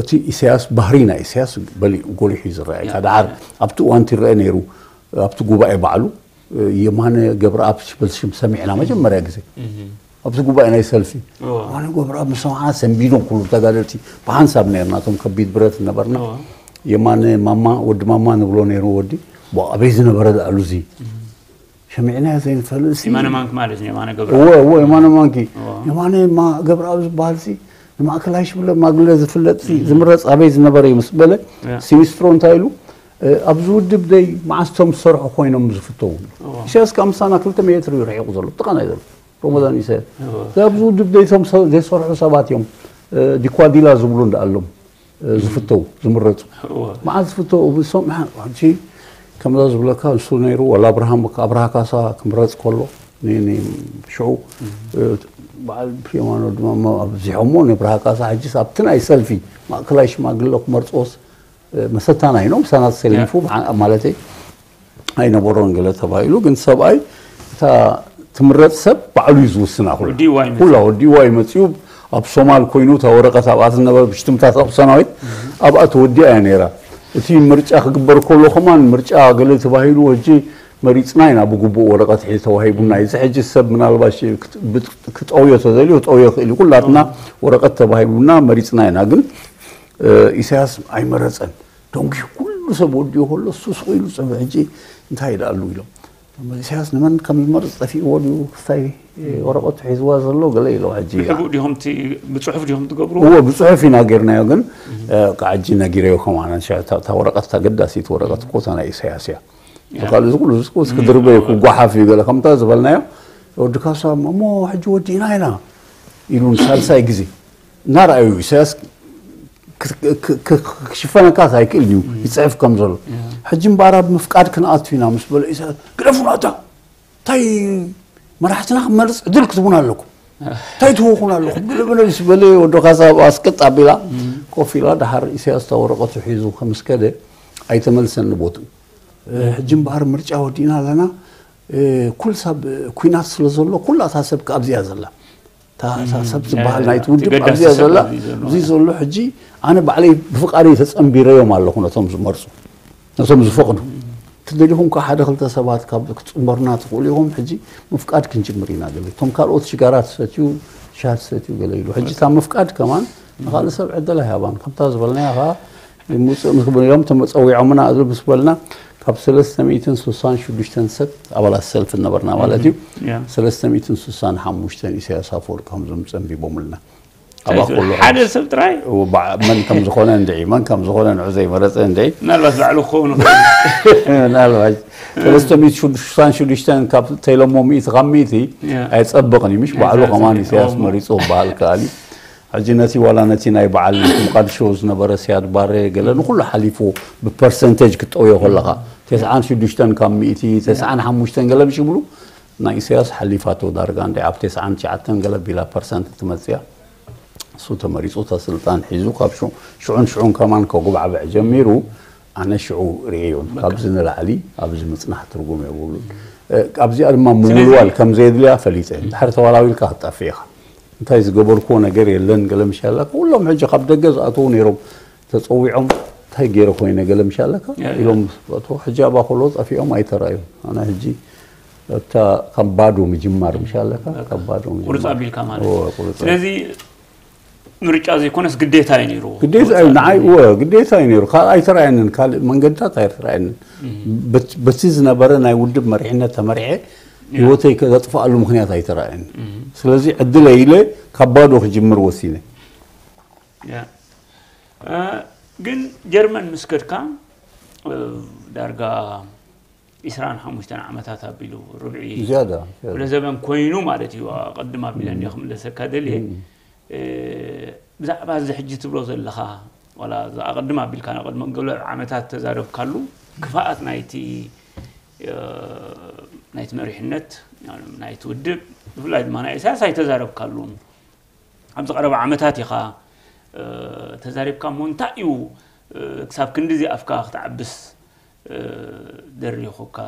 እቲ ኢሳያስ ባህሪ ናይ ኢሳያስ በሊኡ ጎሊሑ እዩ ዝረኣየካ ድሓር ኣብቲ እዋንቲ ይረአ ነይሩ ኣብቲ ጉባኤ ባዕሉ የማነ ገብረኣብ ሽበል ሽም ሰሚዕና መጀመርያ ግዜ ኣብዚ ጉባኤ ናይ ሰልፊ የማነ ገብረኣብ ምስ ሰማዕና ሰንቢዶም ኩሉ ተጋደልቲ ብሓንሳብ ነርና እቶም ከቢድ ብረት ነበርና የማነ ማማ ወዲ ማማ ንብሎ ነይሩ ወዲ ኣበይ ዝነበረ ዳኣሉ እዚ ሰሚዕናዮ ዘይንፈልጥ ሲ የማነ ማንኪ ማለት ነው የማነ ገብረ እወ እወ የማነ ማንኪ የማነ ማ- ገብረኣብ ዝበሃል ሲ ንማእከላይ ሽብለ ማግለ ዝፍለጥ ሲ ዝምረፅ ኣበይ ዝነበረ እዩ ምስ በለ ሲኒስትሮ እንታይ ኢሉ እ፣ ኣብዚ ውድብ ደይ መዓስ ቶም ዝሰርሑ ኮይኖም ዝፍተው ኢሳያስ ካብ ምሳና ክልተ ሜትር እዩ ርሒቑ ዘሎ ጥቓና እዩ ዘሎ ሮሞዳን ኢሳያስ እዚ ኣብዚ ውድብ ደይ ቶም ሰ- ዘይሰርሑ ሰባት እዮም እ፣ ዲኳዲላ ዝብሉ እንዳኣሎም ዝፍተው ዝምረፁ መዓዝ ዝፍተው ብሶም ሕጂ ከምዛ ዝብለካ ንሱ ነይሩ ወላ ኣብርሃም ኣብርሃ ካሳ ክምረፅ ከሎ ሽዑ በዓል ፕሪማኖ ድማ ኣብዚሖሞ ንብርሃ ካሳ ሕጂስ ኣብቲ ናይ ሰልፊ ማእከላይ ሽማግለ ክመርፅዎስ መሰታና ኢኖም ሳናት ሰሊፉ ማለተይ ኣይነበሮን ገለ ተባሂሉ ግን ሰብኣይ እታ ትምረፅ ሰብ ባዕሉ እዩ ዝውስና ኩላ ወዲዋ እዩ ኩላ ወዲዋ እዩ መፅኡ ኣብ ሶማል ኮይኑ እታ ወረቀት ኣብኣ ዝነበረ ብሽትምታት ኣብ ሰናዊት ኣብኣ ተወዲኣ እያ ነይራ እቲ ምርጫ ክግበር ከሎ ከማን ምርጫ ገለ ተባሂሉ ወጂ መሪፅና ኢና ብግቡእ ወረቀት ሒ ተዋሂቡና እዚ ሕጂ ሰብ ምናልባሽ ክጠውዮ ተዘልዮ ጠውዮ ክእል እዩ ኩላትና ወረቀት ተባሂቡና መሪፅና ኢና ግን ኢሳያስ ኣይመረፀን ደንጉዩ ኩሉ ሰብ ወዲኡ ከሎ እሱ ስቕ ኢሉ ፀበ ሕጂ እንታይ ይደኣሉ ኢሎም ኢሳያስ ንመን ከም ዝመርፅ ጠፊእዎ ድዩ ክስታይ ወረቐቱ ሒዝዋ ዘሎ ገለ ኢሎ ሕጂ ሕቡእ ዲኹም እቲ ብፅሑፍ ዲኹም ትገብሩ እዎ ብፅሑፍ ኢና ጌርናዮ ግን ከዓ ሕጂ ነጊረዮ ከማን እታ ወረቐት ተገዳሲት ወረቐት እኮ እታ ናይ ኢሳያስ እያ ካልእ ዝኩሉ ዝኩስ ክድርበ ክጓሓፍ እዩ ገለ ከምታ ዝበልናዮ ወዲ ካሳ እሞ ሕጂ ወዲእና ኢና ኢሉ ንሳልሳይ ግዜ እናረኣዩ ኢሳያስ ክሽፈነካስ ኣይክእል እዩ ይፅሕፍ ከም ዘሎ ሕጂ እምበኣር ኣብ ምፍቃድ ክንኣቱ ኢና ምስ በለ ኢሳያስ ግደፉና እታ እንታይ መራሕትና ክመርፅ ዕድል ክትቡን ኣለኩም እንታይ ትህውኹን ኣለኹም ግልብነ ምስ በለ ወዶ ካሳ ኣስቅጥ ኣቢላ ኮፍ ኢላ ድሓር ኢሳያስ እታ ወረቐቱ ሒዙ ከምስከደ ኣይተመልሰን ንቦትኡ ሕጂ እምበኣር ምርጫ ወዲእና ኣለና ኩል ሰብ ኩናት ስለ ዘሎ ኩላ እታ ሰብ ኣብዚኣ ዘላ እታ ሰብ ዝበሃል ናይቲ ውድብ ኣብዚኣ ዘላ እዚ ዘሎ ሕጂ ኣነ ባዕለይ ብፍቃደይ ተፀንቢረዮም ኣለኹ ነቶም ዝመርፁ ነቶም ዝፈቕዱ ትደሊኹም ከዓ ሓደ ክልተ ሰባት ካብ ክትፅንበሩና ትኽእሉ ኢኹም ሕጂ ምፍቃድ ክንጅምር ኢና ገለ እቶም ካልኦት ሽጋራ ትሰትዩ ሻ ትሰትዩ ገለ ኢሉ ሕጂ እታ ምፍቃድ ከማን ንካልእ ሰብ ዕድል ኣይሃባን ከምታ ዝበልናያ ከዓ ሙፅእ ምስ ክብሉ እዮም ተመፀዊዖምና እዚ ምስ በልና ካብ ሰለስተ ሚእትን ስሳን ሽዱሽተን ሰብ ኣባላት ሰልፊ ነበርና ማለት እዩ ሰለስተ ሚእትን ስሳን ሓሙሽተን ኢሳያስ ኣፈወርቂ ከምዞም ፀንቢቦምልና ኣባ ኩሉ ሓደ ሰብ ጥራይ መን ከም ዝኾነ እንድዒ መን ከም ዝኾነ ንዑ ዘይመረፀ እንድዒ ምናልባት ባዕሉ ክኸውን ምናልባት ሰለስተ ሚእቲ ስሳን ሽዱሽተን ካብ ተይሎሞ ሚእቲ ካብ ሚእቲ ኣይፀብቕን እዩ ምሽ ባዕሉ ከማን ኢሳያስ መሪፁ ክበሃል ከኣል እዩ ሕጂ ነቲ ዋላ ነቲ ናይ በዓል ሞቃድሾ ዝነበረ ስያድ ባረ ገለ ንኩሉ ሓሊፉ ብፐርሰንቴጅ ክትጠውዮ ከለኻ ተስዓን ሽዱሽተን ካብ ሚእቲ ተስዓን ሓሙሽተን ገለ ምሽ ይብሉ ናይ ኢሳያስ ሓሊፋቶ ዳርጋ እንደ ኣብ ተስዓን ትሽዓተን ገለ ቢላ ፐርሰንት ትመፅያ እሱ ተመሪፁ እታ ስልጣን ሒዙ ካብ ሽዑን ሽዑን ከማን ከጉባዕብዕ ጀሚሩ ኣነ ሽዑ ርእየዮን ካብዚ ንላዕሊ ኣብዚ ምፅናሕ ትርጉም የብሉን ኣብዚኣ ድማ ምውልዋል ከም ዘየድልያ ፈሊጠ ድሕሪ ተዋላዊልካ ክትጠፍእ ኢኻ እንታይ ዝገበርክዎ ነገር የለን ገለ ምሻላ ኩሎም ሕጂ ካብ ደገ ዝኣተዉ ነይሮም ተፀዊዖም እንታይ ገይረ ኮይነ ገለ ምሻለካ ኢሎም ዝኣተዉ ሕጂ ኣብኣ ከሎ ጠፊኦም ኣይተረኣዩ ኣነ ሕጂ እታ ካብ ባዶ ምጅማር ምሻለካ ካብ ባዶ ቁርፅ ኣቢልካ ማለት ስለዚ ምርጫ ዘይኮነስ ግዴታ እዩ ነይሩ ግዴታ እዩ ንዓይ እወ ግዴታ እዩ ነይሩ ካልእ ኣይተረኣየንን ካልእ መንገድታት ኣይተረኣየንን በቲ ዝነበረ ናይ ውድብ መሪሕነት ተመሪሐ ህይወተይ ከዘጥፍኣሉ ምክንያት ኣይተረኣየን ስለዚ ዕድለ ኢለ ካብ ባዶ ክጅምር ወሲነ ግን ጀርመን ምስ ከድካ ዳርጋ ኢስራን ሓሙሽተን ዓመታት ኣቢሉ ርብዒ ዝያዳ ዝያዳ። ወደ ዘበን ኮይኑ ማለት እዩ ኣቐድም ኣቢለ እንዲዮ ክምለሰካ ደልየ እ፣ ብዛዕባ እዚ ሕጂ ትብሎ ዘለኻ ዋላ እዚ ኣቐድም ኣቢልካ ንቐድሚ ገለ ዓመታት ተዛረብካሉ ክፋኣት ናይቲ ናይቲ መሪሕነት ናይቲ ውድብ ብፍላይ ድማ ናይ ኢሳያስ ኣይተዛረብካሉን። ኣብዚ ቀረባ ዓመታት ኢኻ ተዛሪብካ እሞ እንታይ እዩ ክሳብ ክንዲዚ ኣፍካ ክትዓብስ ደሪኹካ?